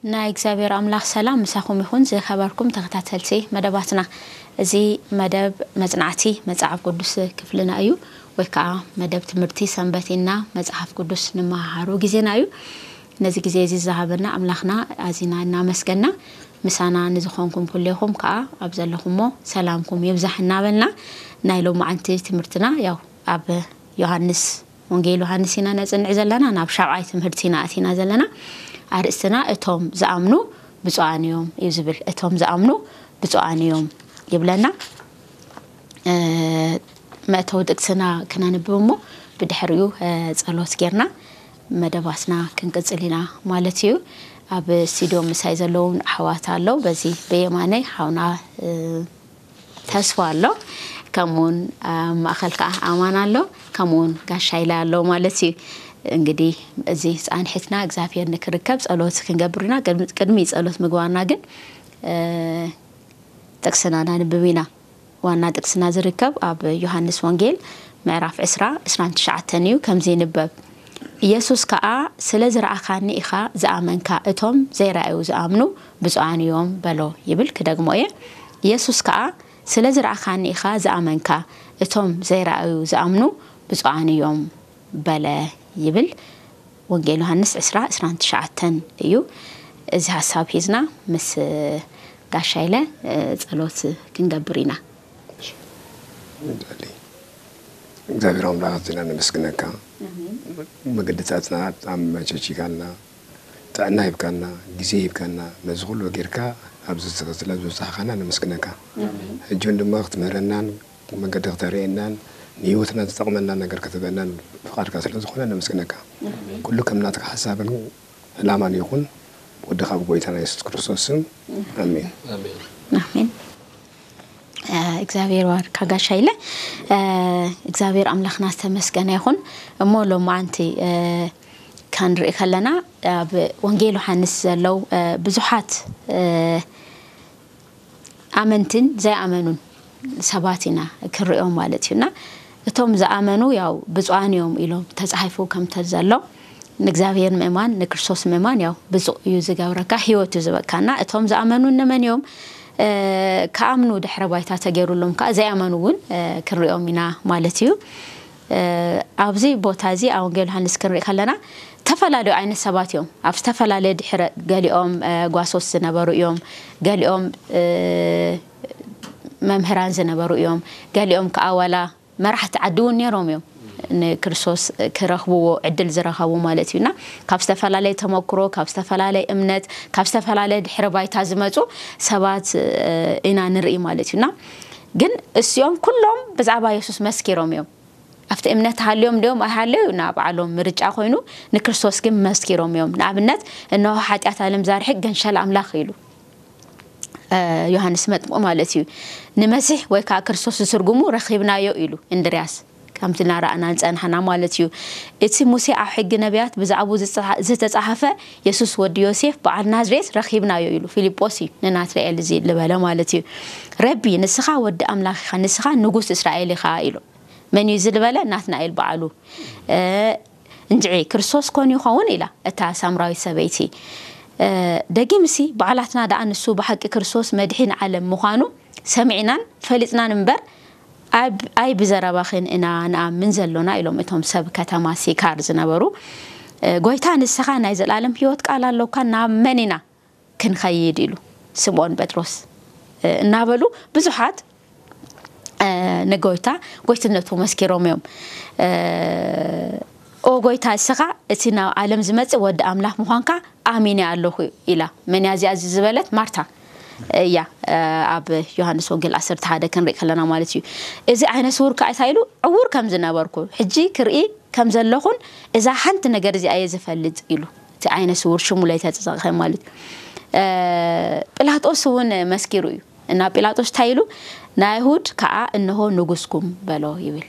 ናይ እግዚኣብሔር ኣምላኽ ሰላም ምሳኹም ይኹን። ዝኸበርኩም ተኸታተልቲ መደባትና፣ እዚ መደብ መጽናዕቲ መጽሓፍ ቅዱስ ክፍልና እዩ፣ ወይ ከዓ መደብ ትምህርቲ ሰንበት ኢና መጽሓፍ ቅዱስ ንመሃሃሩ ግዜና እዩ። ነዚ ግዜ እዚ ዝሃበና ኣምላኽና ኣዚና እናመስገና፣ ምሳና ንዝኾንኩም ኩሌኹም ከዓ ኣብ ዘለኹሞ ሰላምኩም ይብዛሕ እናበልና፣ ናይ ሎማዓንቲ ትምህርትና ያው ኣብ ዮሃንስ፣ ወንጌል ዮሃንስ ኢና ነጽንዕ ዘለና። ናብ ሻብዓይ ትምህርቲ ኢና ኣቲና ዘለና። ኣርእስትና እቶም ዝኣምኑ ብፁዓን እዮም እዩ ዝብል። እቶም ዝኣምኑ ብፁዓን እዮም ይብለና። መእተዊ ጥቅስና ክነንብብ እሞ፣ ብድሕሪኡ ጸሎት ጌርና መደባትና ክንቅጽል ኢና ማለት እዩ። ኣብ ስቱድዮ ምሳይ ዘለዉ ኣሕዋት ኣለዉ። በዚ ብየማነይ ሓውና ተስፋ ኣሎ፣ ከምኡውን ኣብ ማእኸል ከዓ ኣማን ኣሎ፣ ከምኡውን ጋሻ ኢለ ኣሎ ማለት እዩ። እንግዲህ እዚ ፃንሒትና እግዚኣብሔር ንክርከብ ጸሎት ክንገብር ኢና። ቅድሚ ጸሎት ምግባርና ግን ጥቅስና ናንብብ ኢና። ዋና ጥቅስና ዝርከብ ኣብ ዮሃንስ ወንጌል ምዕራፍ ዕስራ ዕስራን ትሽዓተን እዩ። ከምዚ ይንበብ፣ ኢየሱስ ከኣ፣ ስለ ዝረኣኻኒ ኢኻ ዝኣመንካ፣ እቶም ዘይረኣዩ ዝኣምኑ ብፁዓን እዮም በሎ ይብል። ክደግሞ እየ። ኢየሱስ ከኣ፣ ስለ ዝረኣኻኒ ኢኻ ዝኣመንካ፣ እቶም ዘይረኣዩ ዝኣምኑ ብፁዓን እዮም በለ ይብል። ወንጌል ዮሃንስ ዕስራ ዕስራን ትሽዓተን እዩ። እዚ ሓሳብ ሒዝና ምስ ጋሻ ኢለ ጸሎት ክንገብር ኢና። እግዚኣብሔር ኣምላኽ ኣዚና ነመስግነካ። መገድታትና ኣመቻቺካልና፣ ጥዕና ሂብካና፣ ግዜ ሂብካና፣ ነዚ ኩሉ ጌርካ ኣብዚ ስለ ዝበጻሕካና ነመስግነካ። ሕጂ እውን ድማ ክትምህረናን መገዲ ክተርእየናን ንህይወትና ዝጠቕመና ነገር ክትህበናን ፍቓድካ ስለ ዝኾነ ነመስግነካ። ኩሉ ከም ናትካ ሓሳብን ዕላማን ይኹን። ወድኻ ብጎይታና የሱስ ክርስቶስ ስም ኣሜን። ኣሜን። እግዚኣብሔር ባርካ ጋሻ ኢለ። እግዚኣብሔር ኣምላኽና ዝተመስገነ ይኹን። እሞ ሎማዓንቲ ክንርኢ ከለና ኣብ ወንጌል ዮሃንስ ዘለዉ ብዙሓት ኣመንትን ዘይኣመኑን ሰባት ኢና ክንሪኦም ማለት እዩ። እና እቶም ዝኣመኑ ያው ብፁዓን እዮም ኢሎም ተጻሒፉ ከምተ ዘሎ ንእግዚኣብሔር ምእማን ንክርስቶስ ምእማን ያው ብፁዕ እዩ ዝገብረካ፣ ህይወት እዩ ዝበካና። እቶም ዝኣመኑ እነመን እዮም? ክኣምኑ ድሕረ ባይታ ተገይሩሎም ከዓ ዘይኣመኑ እውን ክንሪኦም ኢና ማለት እዩ። ኣብዚ ቦታ እዚ ኣብ ወንጌል ዮሃንስ ክንርኢ ከለና ዝተፈላለዩ ዓይነት ሰባት እዮም ኣብ ዝተፈላለየ ድሕረ፣ ገሊኦም ጓሶት ዝነበሩ እዮም፣ ገሊኦም መምህራን ዝነበሩ እዮም፣ ገሊኦም ከዓ ዋላ መራሕቲ ዓዲ እውን ነይሮም እዮም ንክርስቶስ ክረኽብዎ ዕድል ዝረኸቡ ማለት እዩ። እና ካብ ዝተፈላለየ ተመክሮ፣ ካብ ዝተፈላለየ እምነት፣ ካብ ዝተፈላለየ ድሕረ ባይታ ዝመፁ ሰባት ኢና ንርኢ ማለት እዩ። እና ግን እሲኦም ኩሎም ብዛዕባ የሱስ መስኪሮም እዮም። ኣብቲ እምነት ሃልዮም ድኦም ኣይሃለዩ ናብ ባዕሎም ምርጫ ኮይኑ፣ ንክርስቶስ ግን መስኪሮም እዮም። ንኣብነት እንሆ ሓጢኣት ዓለም ዛርሕቅ ገንሸል ኣምላኽ ኢሉ ዮሃንስ መጥምቁ ማለት እዩ። ንመሲሕ ወይ ከዓ ክርስቶስ ዝትርጉሙ ረኺብናዮ ኢሉ እንድርያስ፣ ከምቲ እናረኣና ንፀናሕና ማለት እዩ። እቲ ሙሴ ኣብ ሕጊ ነቢያት ብዛዕባኡ ዝተፃሓፈ የሱስ ወዲ ዮሴፍ በዓል ናዝሬት ረኺብናዮ ኢሉ ፊልጶስ እዩ ንናትናኤል እዚ ዝበለ ማለት እዩ። ረቢ ንስኻ ወዲ ኣምላኽ ኢኻ፣ ንስኻ ንጉስ እስራኤል ኢኻ ኢሉ። መን እዩ እዚ ዝበለ? ናትናኤል በዓሉ። እንድዒ ክርስቶስ ኮን ይኸውን ኢላ እታ ሳምራዊት ሰበይቲ። ደጊምሲ ባዕላትና ደኣ ንሱ ብሓቂ ክርስቶስ መድሒን ዓለም ምዃኑ ሰሚዕናን ፈሊጥናን እምበር ኣይ ብዘረባኽን ኢና ንኣምን ዘሎና ኢሎም እቶም ሰብ ከተማ ሲካር ዝነበሩ። ጎይታ ንስኻ ናይ ዘለኣለም ህይወት ቃል ኣሎካ ናብ መን ኢና ክንኸይድ ኢሉ ስምኦን ጴጥሮስ እናበሉ ብዙሓት ንጎይታ ጎይትነቱ መስኪሮም እዮም። ኦ ጎይታ እስኻ እቲ ናብ ዓለም ዝመጽእ ወዲ ኣምላኽ ምዃንካ ኣሚነ ኣለኹ ኢላ። መን እያ እዚኣ እዚ ዝበለት? ማርታ እያ። ኣብ ዮሃንስ ወንጌል ዓሰርተ ሓደ ክንርኢ ከለና ማለት እዩ። እዚ ዓይነ ስውር ከዓ እንታይ ኢሉ? ዕውር ከም ዝነበርኩ ሕጂ ክርኢ ከም ዘለኹን እዛ ሓንቲ ነገር እዚኣ እየ ዝፈልጥ ኢሉ። እቲ ዓይነ ስውር ሽሙ ለይተጸቕኸ ማለት እዩ። ጲላጦስ እውን መስኪሩ እዩ። እና ጲላጦስ እንታይ ኢሉ? ንኣይሁድ ከዓ እንሆ ንጉስኩም በሎ ይብል።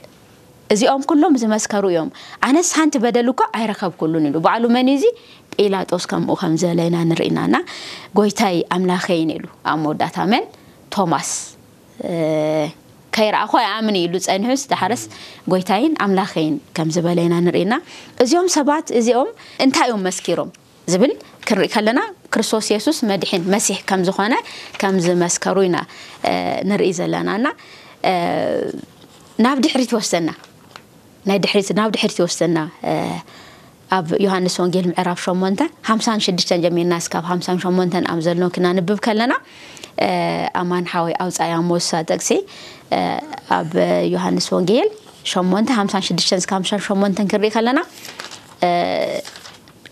እዚኦም ኩሎም ዝመስከሩ እዮም። ኣነስ ሓንቲ በደል እኳ ኣይረኸብኩሉን ኢሉ። ባዕሉ መን እዩ እዚ? ጲላጦስ ከምኡ ከም ዝበለ ኢና ንርኢ ኢና። እና ጎይታይ ኣምላኸይን ኢሉ ኣብ መወዳእታ መን? ቶማስ ከይረኣኹ ኣይኣምን ኢሉ ጸኒሑስ፣ ዳሕረስ ጎይታይን ኣምላኸይን ከም ዝበለ ኢና ንርኢ ኢና። እዚኦም ሰባት እዚኦም እንታይ እዮም መስኪሮም ዝብል ክንርኢ ከለና ክርስቶስ የሱስ መድሕን መሲሕ ከም ዝኾነ ከም ዝመስከሩ ኢና ንርኢ ዘለና። እና ናብ ድሕሪት ይወስደና። ናይ ድሕሪት ናብ ድሕሪት ይወስደና። ኣብ ዮሃንስ ወንጌል ምዕራፍ ሸሞንተ ሓምሳን ሽዱሽተን ጀሚርና እስካብ ሓምሳን ሸሞንተን ኣብ ዘሎ ክናንብብ ከለና፣ ኣማን ሓወይ ኣውፃያ ሞሳ ጥቕሲ ኣብ ዮሃንስ ወንጌል ሸሞንተ ሓምሳን ሽዱሽተን እስካብ ሓምሳን ሸሞንተን ክንርኢ ከለና፣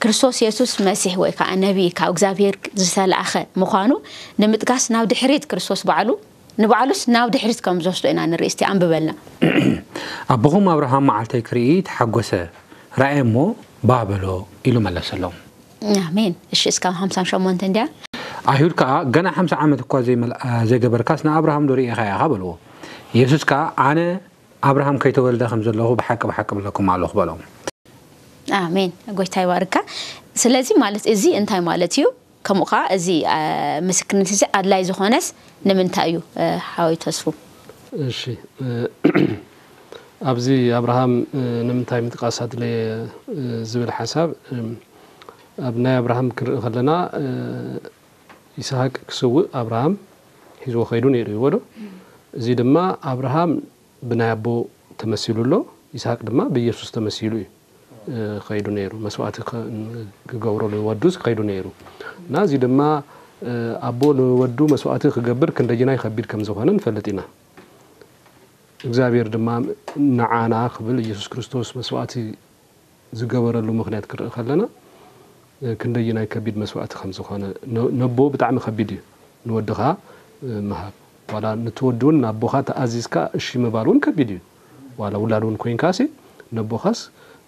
ክርስቶስ የሱስ መሲሕ ወይ ከዓ ነቢይ ካብ እግዚኣብሔር ዝተላእኸ ምዃኑ ንምጥቃስ ናብ ድሕሪት ክርስቶስ ባዕሉ ንባዕሉስ ናብ ድሕሪት ከም ዝወስዶ ኢና ንርኢ። እስቲ ኣንብበልና። ኣቦኹም ኣብርሃም መዓልተይ ክርኢ ተሓጎሰ፣ ረኣየ እሞ ባህ በሎ ኢሉ መለሰሎም። ኣሜን። እሺ፣ እስካብ ሓምሳን ሸሞንተ እንድያ። ኣይሁድ ከኣ፣ ገና ሓምሳ ዓመት እኳ ዘይመልኣ ዘይገበርካስ ንኣብርሃም ዶ ርኢኻ ኢኻ በልዎ። ኢየሱስ ከኣ፣ ኣነ ኣብርሃም ከይተወልደ ከም ዘለኹ ብሓቂ ብሓቂ እብለኩም ኣለኹ በሎም። ኣሜን። ጎይታ ይባርካ። ስለዚ ማለት እዚ እንታይ ማለት እዩ? ከምኡ ኸዓ እዚ ምስክርነት እዚ ኣድላይ ዝኾነስ ንምንታይ እዩ? ሓወይ ተስፉ። እሺ፣ ኣብዚ ኣብርሃም ንምንታይ ምጥቃስ ኣድለየ ዝብል ሓሳብ፣ ኣብ ናይ ኣብርሃም ክንርኢ ከለና፣ ይስሃቅ ክስውእ ኣብርሃም ሒዝዎ ከይዱ ነይሩ እዩ ወዶ። እዚ ድማ ኣብርሃም ብናይ ኣቦ ተመሲሉ ኣሎ፣ ይስሃቅ ድማ ብኢየሱስ ተመሲሉ እዩ። ከይዱ ነይሩ፣ መስዋእቲ ክገብረሉ ወዱስ ከይዱ ነይሩ። እና እዚ ድማ ኣቦ ንወዱ መስዋእቲ ክገብር ክንደይናይ ከቢድ ከም ዝኾነ ንፈልጥ ኢና። እግዚኣብሔር ድማ ንዓና ክብል ኢየሱስ ክርስቶስ መስዋእቲ ዝገበረሉ ምኽንያት ክርኢ ከለና ክንደይናይ ከቢድ መስዋእቲ ከም ዝኾነ፣ ነቦ ብጣዕሚ ከቢድ እዩ። ንወድኻ ምሃብ፣ ዋላ ንትወዲ እውን ናቦኻ ተኣዚዝካ እሺ ምባል እውን ከቢድ እዩ። ዋላ ውላድ እውን ኮይንካሲ ነቦኻስ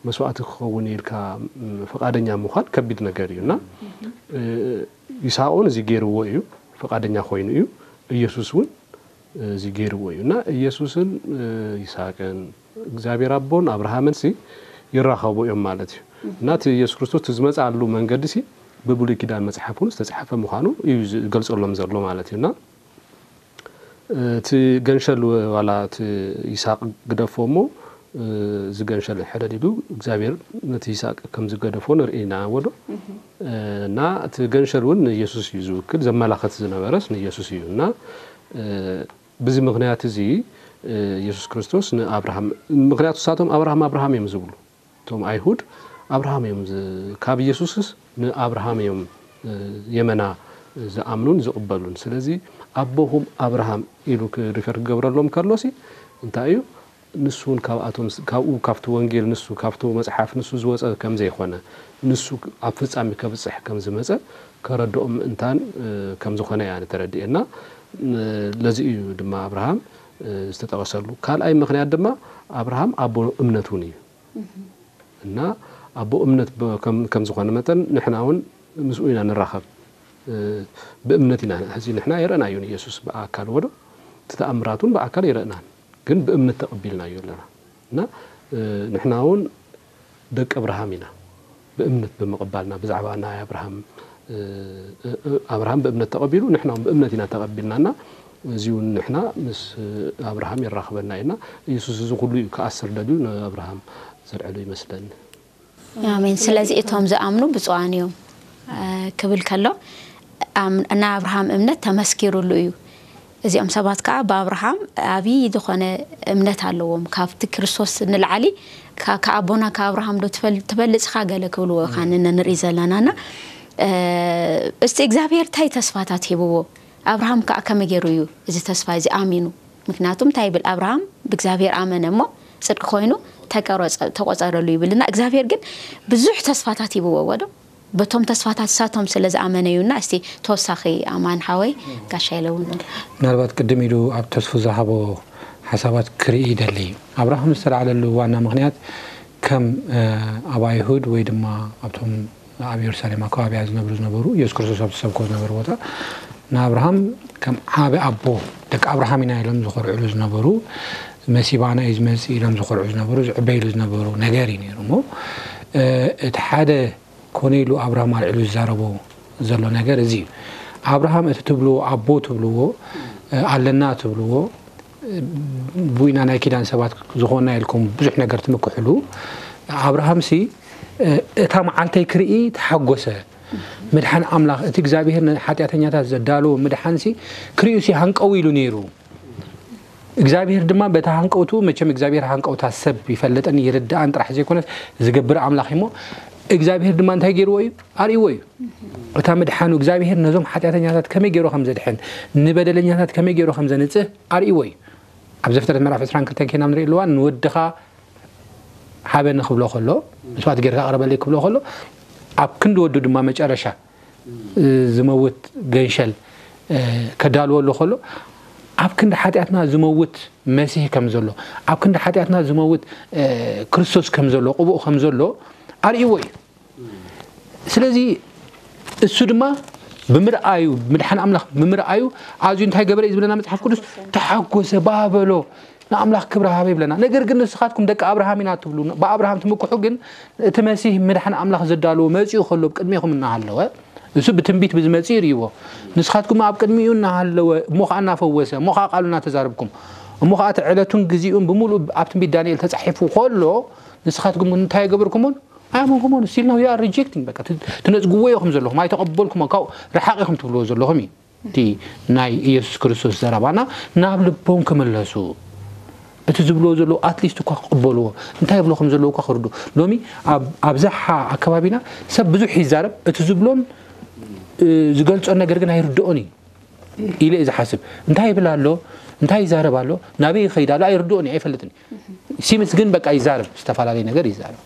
መስዋእቲ ክኸውን ኢልካ ፍቓደኛ ምዃን ከቢድ ነገር እዩ። እና ይስሐቅ እውን እዚ ገይርዎ እዩ፣ ፍቓደኛ ኮይኑ እዩ። ኢየሱስ እውን እዚ ገይርዎ እዩ። እና ኢየሱስን ይስሐቅን እግዚኣብሔር ኣቦን ኣብርሃምን ሲ ይራኸቡ እዮም ማለት እዩ። እና እቲ ኢየሱስ ክርስቶስ እቲ ዝመፅኣሉ መንገዲ ሲ ብብሉይ ኪዳን መፅሓፍ እውን ዝተፅሓፈ ምዃኑ እዩ ዝገልፀሎም ዘሎ ማለት እዩ። እና እቲ ገንሸል ዋላ እቲ ይስሐቅ ግደፎ እሞ እዚ ገንሸል ሕደድ ኢሉ እግዚኣብሔር ነቲ ይስሐቅ ከም ዝገደፎ ንርኢ ኢና ወዶ። እና እቲ ገንሸል እውን ንኢየሱስ እዩ ዝውክል፣ ዘመላኸት ዝነበረስ ንኢየሱስ እዩ። እና ብዚ ምኽንያት እዚ ኢየሱስ ክርስቶስ ንኣብርሃም፣ ምኽንያቱ ንሳቶም ኣብርሃም ኣብርሃም እዮም ዝብሉ። እቶም ኣይሁድ ኣብርሃም እዮም ዝ-፣ ካብ ኢየሱስስ ንኣብርሃም እዮም የመና ዝኣምኑን ዝቕበሉን። ስለዚ ኣቦኹም ኣብርሃም ኢሉ ክ-፣ ሪፈር ክገብረሎም ከሎሲ እንታይ እዩ? ንሱ እውን ካብኣቶም፣ ካብኡ ካብቲ ወንጌል ንሱ ካብቲ መጽሓፍ ንሱ ዝወጸ ከም ዘይኮነ፣ ንሱ ኣብ ፍጻሜ ከብጽሕ ከም ዝመጸ ከረድኦም ምእንታን ከም ዝኾነ እያ ንተረድኤና። ለዚ እዩ ድማ ኣብርሃም ዝተጠቐሰሉ። ካልኣይ ምኽንያት ድማ ኣብርሃም ኣቦ እምነት እውን እዩ። እና ኣቦ እምነት ብ-፣ ከም፣ ከም ዝኾነ መጠን ንሕና እውን ምስኡ ኢና ንራኸብ። ብእምነት ኢና፣ ሕዚ ንሕና የረእናዩ ንኢየሱስ ብኣካል ወዶ፣ እቲ ተኣምራት እውን ብኣካል የረእናን፣ ግን ብእምነት ተቐቢልናዮ ኣለና። እና ንሕና እውን ደቂ ኣብርሃም ኢና፣ ብእምነት ብምቕባልና ብዛዕባ ናይ ኣብርሃም፣ ኣብርሃም ብእምነት ተቐቢሉ፣ ንሕና እውን ብእምነት ኢና ተቐቢልና። እና እዚ እውን ንሕና ምስ ኣብርሃም የራኽበና እዩ። እና ኢየሱስ እዚ ኩሉ እዩ ክኣስር ደልዩ ንኣብርሃም ዘልዕሎ ይመስለኒ። ኣሜን። ስለዚ እቶም ዝኣምኑ ብፁዓን እዮም ክብል ከሎ፣ ናይ ኣብርሃም እምነት ተመስኪሩሉ እዩ። እዚኦም ሰባት ከዓ ብኣብርሃም ዓብዪ ዝኾነ እምነት ኣለዎም። ካብቲ ክርስቶስ ንላዕሊ ካብ ኣቦና ካብ ኣብርሃም ዶ ትበልፅኻ ገለ ክብልዎ ኻን ንርኢ ዘለናና። እስቲ እግዚኣብሔር እንታይ ተስፋታት ሂብዎ? ኣብርሃም ከዓ ከመይ ገይሩ እዩ እዚ ተስፋ እዚ ኣሚኑ? ምክንያቱ እንታይ ይብል? ኣብርሃም ብእግዚኣብሔር ኣመነ እሞ ጽድቂ ኮይኑ ተቆጸረሉ ይብልና። እግዚኣብሔር ግን ብዙሕ ተስፋታት ሂብዎ ዶ? በቶም ተስፋታት ሳቶም ስለ ዝኣመነ እዩና። እስቲ ተወሳኺ ኣማን ሓወይ ጋሻ ኢለ እውን ምናልባት ቅድም ኢሉ ኣብ ተስፉ ዝሃቦ ሓሳባት ክርኢ ይደሊ። ኣብርሃም ዝተላዕለሉ ዋና ምክንያት ከም ኣብ ኣይሁድ ወይ ድማ ኣብቶም ኣብ የሩሳሌም ኣከባቢያ ዝነብሩ ዝነበሩ ኢየሱስ ክርስቶስ ኣብ ዝሰብኮ ዝነበሩ ቦታ ንኣብርሃም ከም ዓቢ ኣቦ ደቂ ኣብርሃም ኢና ኢሎም ዝኮርዕሉ ዝነበሩ መሲባና እዩ ዝመጽእ ኢሎም ዝኮርዑ ዝነበሩ ዝዕበይሉ ዝነበሩ ነገር እዩ ነይሩ እሞ እቲ ሓደ ኮነ ኢሉ ኣብርሃም ኣልዕሉ ዝዛረቦ ዘሎ ነገር እዚ እዩ። ኣብርሃም እቲ ትብልዎ ኣቦ ትብልዎ ኣለና ትብልዎ ብኢና ናይ ኪዳን ሰባት ዝኾንና ኢልኩም ብዙሕ ነገር ትምክሕሉ ኣብርሃምሲ እታ መዓልተይ ክርኢ ተሓጎሰ ምድሓን ኣምላኽ፣ እቲ እግዚኣብሔር ንሓጢኣተኛታት ዘዳለዎ ምድሓንሲ ክርእዩሲ ሃንቀው ኢሉ ነይሩ። እግዚኣብሔር ድማ በታ ሃንቀውቱ፣ መቸም እግዚኣብሔር ሃንቀውታ ሰብ ይፈልጥን ይርድኣን ጥራሕ ዘይኮነስ ዝገብር ኣምላኽ እሞ፣ እግዚኣብሔር ድማ እንታይ ገይርዎ እዩ? ኣርእይዎ እዩ። እታ ምድሓኑ እግዚኣብሔር ነዞም ሓጢኣተኛታት ከመይ ገይሩ ከም ዘድሕን፣ ንበደለኛታት ከመይ ገይሩ ከም ዘንጽህ ኣርእይዎ እዩ። ኣብ ዘፍጥረት ምዕራፍ ዕስራን ክልተን ኬና ንርኢ ኣለዋ። ንወድኻ ሃበኒ ክብሎ ከሎ፣ መስዋእቲ ጌርካ ኣቕርበለይ ክብሎ ከሎ፣ ኣብ ክንዲ ወዱ ድማ መጨረሻ ዝመውት ገንሸል ከዳልወሉ ከሎ፣ ኣብ ክንዲ ሓጢኣትና ዝመውት መሲህ ከም ዘሎ፣ ኣብ ክንዲ ሓጢኣትና ዝመውት ክርስቶስ ከም ዘሎ፣ ቅቡእ ከም ዘሎ ኣርእይዎ እዩ። ስለዚ እሱ ድማ ብምርኣዩ፣ ምድሓን ኣምላኽ ብምርኣዩ ኣዝዩ እንታይ ገበረ እዩ ዝብለና መጽሓፍ ቅዱስ? ተሓጎሰ፣ ባበሎ፣ ንኣምላኽ ክብሪ ሃበ ይብለና። ነገር ግን ንስኻትኩም ደቂ ኣብርሃም ኢና ትብሉ፣ ብኣብርሃም ትምክሑ፣ ግን እቲ መሲህ ምድሓን ኣምላኽ ዘዳለዎ መጺኡ ከሎ ቅድሜኹም እናሃለወ፣ እሱ ብትንቢት ብዝመጽእ ይርእይዎ። ንስኻትኩም ኣብ ቅድሚኡ እናሃለወ፣ እሞ ኸዓ እናፈወሰ፣ እሞ ኸዓ ቃሉ እናተዛረብኩም፣ እሞ ኸዓ እቲ ዕለቱን ግዚኡን ብምሉእ ኣብ ትንቢት ዳንኤል ተጻሒፉ ከሎ፣ ንስኻትኩም እንታይ ገበርኩሞን? ኣያመንኩሞን። Still now you are rejecting። በቃ ት-፣ ትነጽግዎ ኢኹም ዘለኹም፣ ኣይተቐበልኩሞን፣ ካብኡ ርሓቕ ኢኹም ትብልዎ ዘለኹም እዩ። እቲ ናይ ኢየሱስ ክርስቶስ ዘረባና ናብ ልቦም ክምለሱ፣ እቲ ዝብልዎ ዘለዉ ኣትሊስት እኳ ክቕበልዎ፣ እንታይ ይብሎ ከም ዘለዉ እኳ ክርዱ። ሎሚ ኣብ፣ ኣብዝሓ ኣከባቢና ሰብ ብዙሕ ይዛረብ፣ እቲ ዝብሎን፣ እ፣ ዝገልጾን ነገር ግን ኣይርድኦን እዩ ኢለ እየ ዝሓስብ። እንታይ ይብል ኣሎ? እንታይ ይዛረብ ኣሎ? ናበይ ይኸይድ ኣሎ? ኣይርድኦን እዩ፣ ኣይፈልጥን እዩ። ሲምስ ግን በቃ ይዛረብ፣ ዝተፈላለየ ነገር ይዛረብ።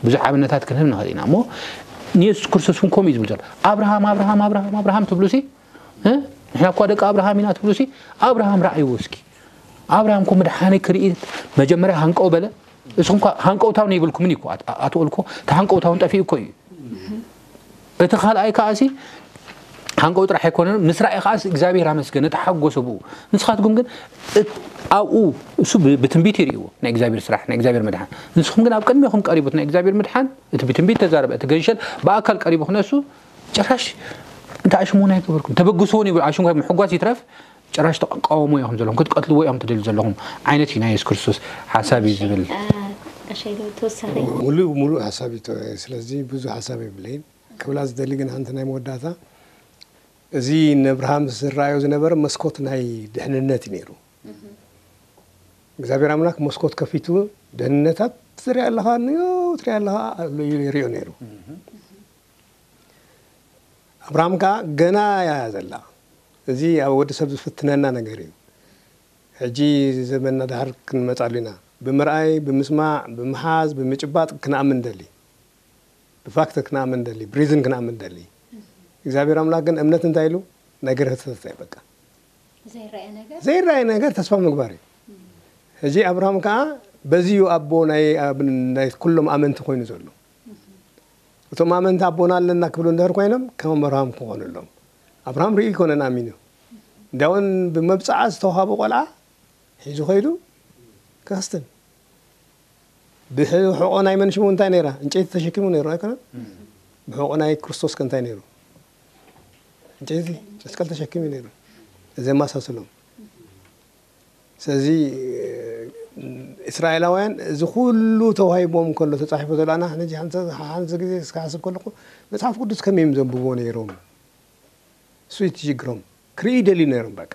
ብዙሕ ኣብነታት ክንህብ ንኽእል ኢና እሞ፣ ንየሱስ ክርስቶስ እውን ከምኡ እዩ ዝብል ዘሎ። ኣብርሃም፣ ኣብርሃም፣ ኣብርሃም፣ ኣብርሃም ትብሉሲ፣ እ? ንሕና እኳ ደቂ ኣብርሃም ኢና ትብሉሲ፣ ኣብርሃም ረኣይዎ እስኪ። ኣብርሃም እኮ ምድሓነይ ክርኢ መጀመርያ ሃንቀው በለ። እስኹም እኳ ሃንቀውታውን የብልኩምን እዩ እኮ፣ ኣት-፣ ኣትወልኮ፣ እቲ ሃንቀውታውን ጠፊኡ እኮ እዩ። እቲ ካልኣይ ከኣሲ ሃንቀው ጥራሕ ኣይኮነን፣ ምስ ረኣየ ከኣሲ እግዚኣብሔር ኣመስገነ፣ ተሓጎሰ ብኡ። ንስኻትኩም ግን እት-፣ ኣብኡ እሱ ብ-፣ ብትንቢት ይርእይዎ፣ ናይ እግዚኣብሔር ስራሕ፣ ናይ እግዚኣብሔር ምድሓን። ንስኹም ግን ኣብ ቅድሜኹም ቀሪቡ እቲ ናይ እግዚኣብሔር ምድሓን፣ እቲ ብትንቢት ተዛረበ፣ እቲ ገንሸል ብኣካል ቀሪቡ ክነሱ፣ ጭራሽ እንተ ኣሽሞን ኣይገበርኩም። ተበግስዎን ይብሉ፣ ኣሽሞ ምሕጓስ ይትረፍ፣ ጭራሽ ተቃውሞ ኢኹም ዘለኹም፣ ክትቀትልዎ ኢኹም ትደልዩ ዘለኹም ዓይነት እዩ ናይ የሱስ ክርስቶስ ሓሳብ እዩ ዝብል። እ፣ ቀሸይ ዶ ተወሳኺ? ሙሉእ፣ ሙሉእ ሓሳብ እዩ። ተ-፣ ስለዚ ብዙሕ ሓሳብ የብለይን። ክብላ ዝደሊ ግን ሓንቲ ናይ መወዳእታ፣ እዚ ንኣብርሃም ዝረኣዮ ዝነበረ መስኮት ናይ ድሕንነት እዩ ነይሩ። እግዚኣብሔር ኣምላኽ መስኮት ከፊቱ ድሕንነታት ትሪኣ ኣለኻ፣ ንዮ ትሪኣ ኣለኻ ኣሎ ኢሉ ይሪኦ ነይሩ። ኣብርሃም ከኣ ገና እያ ዘላ። እዚ ኣብ ወዲ ሰብ ዝፍትነና ነገር እዩ። ሕጂ ዘመንና ድሓር ክንመጻሉ ኢና። ብምርኣይ፣ ብምስማዕ፣ ብምሓዝ፣ ብምጭባጥ ክንኣምን ንደሊ። ብፋክት ክንኣምን ንደሊ፣ ብሪዝን ክንኣምን ንደሊ። እግዚኣብሔር ኣምላኽ ግን እምነት እንታይ ኢሉ? ነገር ህተተ በቃ። ዘይረኣየ ነገር? ዘይረኣየ ነገር ተስፋ ምግባር እዩ። ሕጂ ኣብርሃም ከኣ በዚ እዩ ኣቦ ናይ፣ ኣብ-፣ ናይ ኩሎም ኣመንቲ ኮይኑ ዘሎ። እቶም ኣመንቲ ኣቦና ኣለና ክብሉ እንድሕር ኮይኖም ከም ኣብርሃም ክኾኑ ኣለዎም። ኣብርሃም ርኢ ኣይኮነን ኣሚኑ። እንዲያውን ብመብጽዓ ዝተዋሃቦ ቆልዓ ሒዙ ከይዱ ከኽስትን። ብሕቖ ናይ መን ሽሙ እንታይ ነይራ? ዕንጨይቲ ተሸኪሙ ነይሩ ኣይኮነን? ብሕቖ ናይ ክርስቶስ ከ እንታይ ነይሩ? ዕንጨይቲ መስቀል ተሸኪሙ ነይሩ። እዚ የመሳስሎም። ስለዚ እስራኤላውያን እዚ ኩሉ ተዋሂቦም ከሎ ተጻሒፉ ዘሎ ኣና ሕጂ ሓንቲ፣ ሓንቲ ግዜ እስከ ሓስብ ከለኹ መጽሓፍ ቅዱስ ከመይ እዮም ዘንብቦ ነይሮም? እሱ እዩ እቲ ሽግሮም። ክርኢ ይደልዩ ነይሮም በቃ።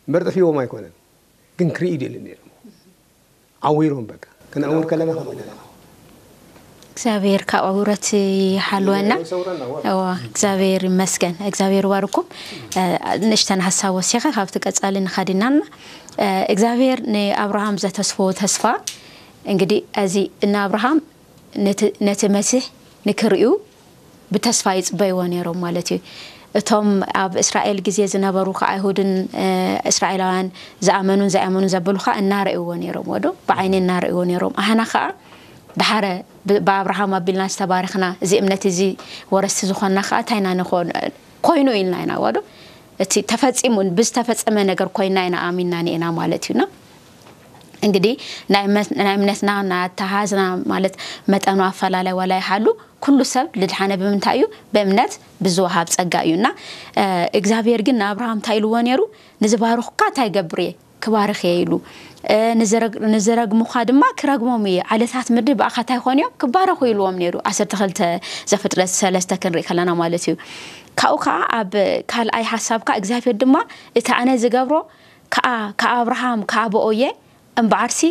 እምበር ጠፊዎም ኣይኮነን። ግን ክርኢ ይደልዩ ነይሮም። ዓዊሮም በቃ። ክንዕውር ከለና ከምኡ ኢና። እግዚኣብሔር ካብ ዕውረት ይሓልወና። ይሰውረና፣ ዋ። እዋ፣ እግዚኣብሔር ይመስገን። እግዚኣብሔር ይባርኩም። እ፣ ንእሽተን ሓሳብ ወሲኸ ካብቲ ቀጻሊ ንኸድ ኢና። እ፣ እግዚኣብሔር ንኣብርሃም ዘተስፎ ተስፋ፣ እንግዲህ፣ እዚ ንኣብርሃም ነቲ፣ ነቲ መሲሕ ንክርእዩ ብተስፋ ይጽበይዎ ነይሮም ማለት እዩ። እቶም ኣብ እስራኤል ግዜ ዝነበሩ ከ ኣይሁድን፣ እ፣ እስራኤላውያን ዝኣመኑን ዘይኣመኑን ዘበሉ ከኣ እናረእይዎ ነይሮም፣ ወዶ ብዓይኒ እናረእይዎ ነይሮም። ኣህና ከኣ ደሓረ ብ-፣ ብኣብርሃም ኣቢልና ዝተባረኽና፣ እዚ እምነት እዚ ወረስቲ ዝኾንና ከኣ እንታይ ኢና ንኾን-፣ ኮይኑ ኢልና ኢና፣ ወዶ እቲ ተፈጺሙ፣ ብዝተፈጸመ ነገር ኮይና ኢና ኣሚንና ንኤና ማለት እዩና። እንግዲህ ናይ እምነት-፣ ናይ እምነትና ናይ ኣተሓዝና ማለት መጠኑ ኣፈላለይ ዋላ ይሃሉ፣ ኩሉ ሰብ ልድሓነ ብምንታይ እዩ? ብእምነት ብዝወሃብ ጸጋ እዩ። እና፣ እ፣ እግዚኣብሔር ግን ንኣብርሃም እንታይ ኢልዎ ነይሩ? "ንዝባርኹካ እንታይ ይገብር እየ? ክባርኽ እየ ኢሉ። እ፣ ንዝረግ-፣ ንዝረግሙኻ ድማ ክረግሞም እየ። ዓለታት ምድሪ ብኣኻ እንታይ ይኾኑ እዮም? ክባረኹ ኢልዎም ነይሩ። ዓሰርተ ክልተ ዘፍጥረት ሰለስተ ክንርኢ ከለና ማለት እዩ። ካብኡ ከዓ ኣብ ካልኣይ ሓሳብ ከዓ እግዚኣብሔር ድማ እቲ ኣነ ዝገብሮ ከዓ ከኣብርሃም ከኣበኦ እየ እምበኣርሲ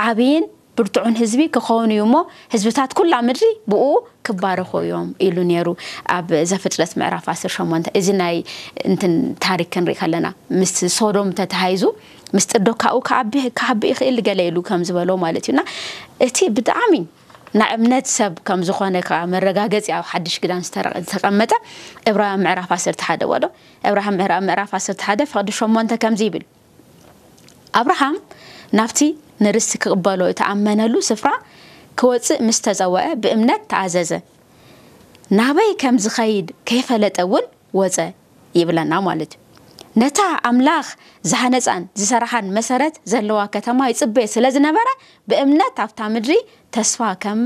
ዓብይን ብርቱዕን ህዝቢ ክኸውን እዩ እሞ ህዝብታት ኩላ ምድሪ ብኡ ክባረኹ እዮም ኢሉ ነይሩ። ኣብ ዘፍጥረት ምዕራፍ ዓሰርተ ሸሞንተ እዚ ናይ እንትን ታሪክ ክንርኢ ከለና ምስ ሶዶም ተተሃይዙ ምስጢር ዶ ካብኡ ክዓቢ ክዓቢ ይኽእል ገለ ኢሉ ከም ዝበሎ ማለት እዩና እቲ ብጣዕሚ ናይ እምነት ሰብ ከም ዝኾነ ከዓ መረጋገፂ ኣብ ሓድሽ ክዳን ዝተረ-፣ ዝተቐመጠ እብራውያን ምዕራፍ ዓሰርተ ሓደ ወዶ እብራሃም ምዕራ-፣ ምዕራፍ ዓሰርተ ሓደ ፍቕዲ ሸሞንተ ከምዚ ይብል ኣብርሃም ናብቲ ንርስቲ ክቕበሎ እተኣመነሉ ስፍራ ክወጽእ ምስ ተጸውዐ ብእምነት ተኣዘዘ። ናበይ ከም ዝኸይድ ከይፈለጠ እውን ወጸ ይብለና ማለት እዩ። ነታ ኣምላኽ ዝሃነጻን ዝሰራሓን መሰረት ዘለዋ ከተማ ይጽበ ስለ ዝነበረ ብእምነት ኣብታ ምድሪ ተስፋ ከም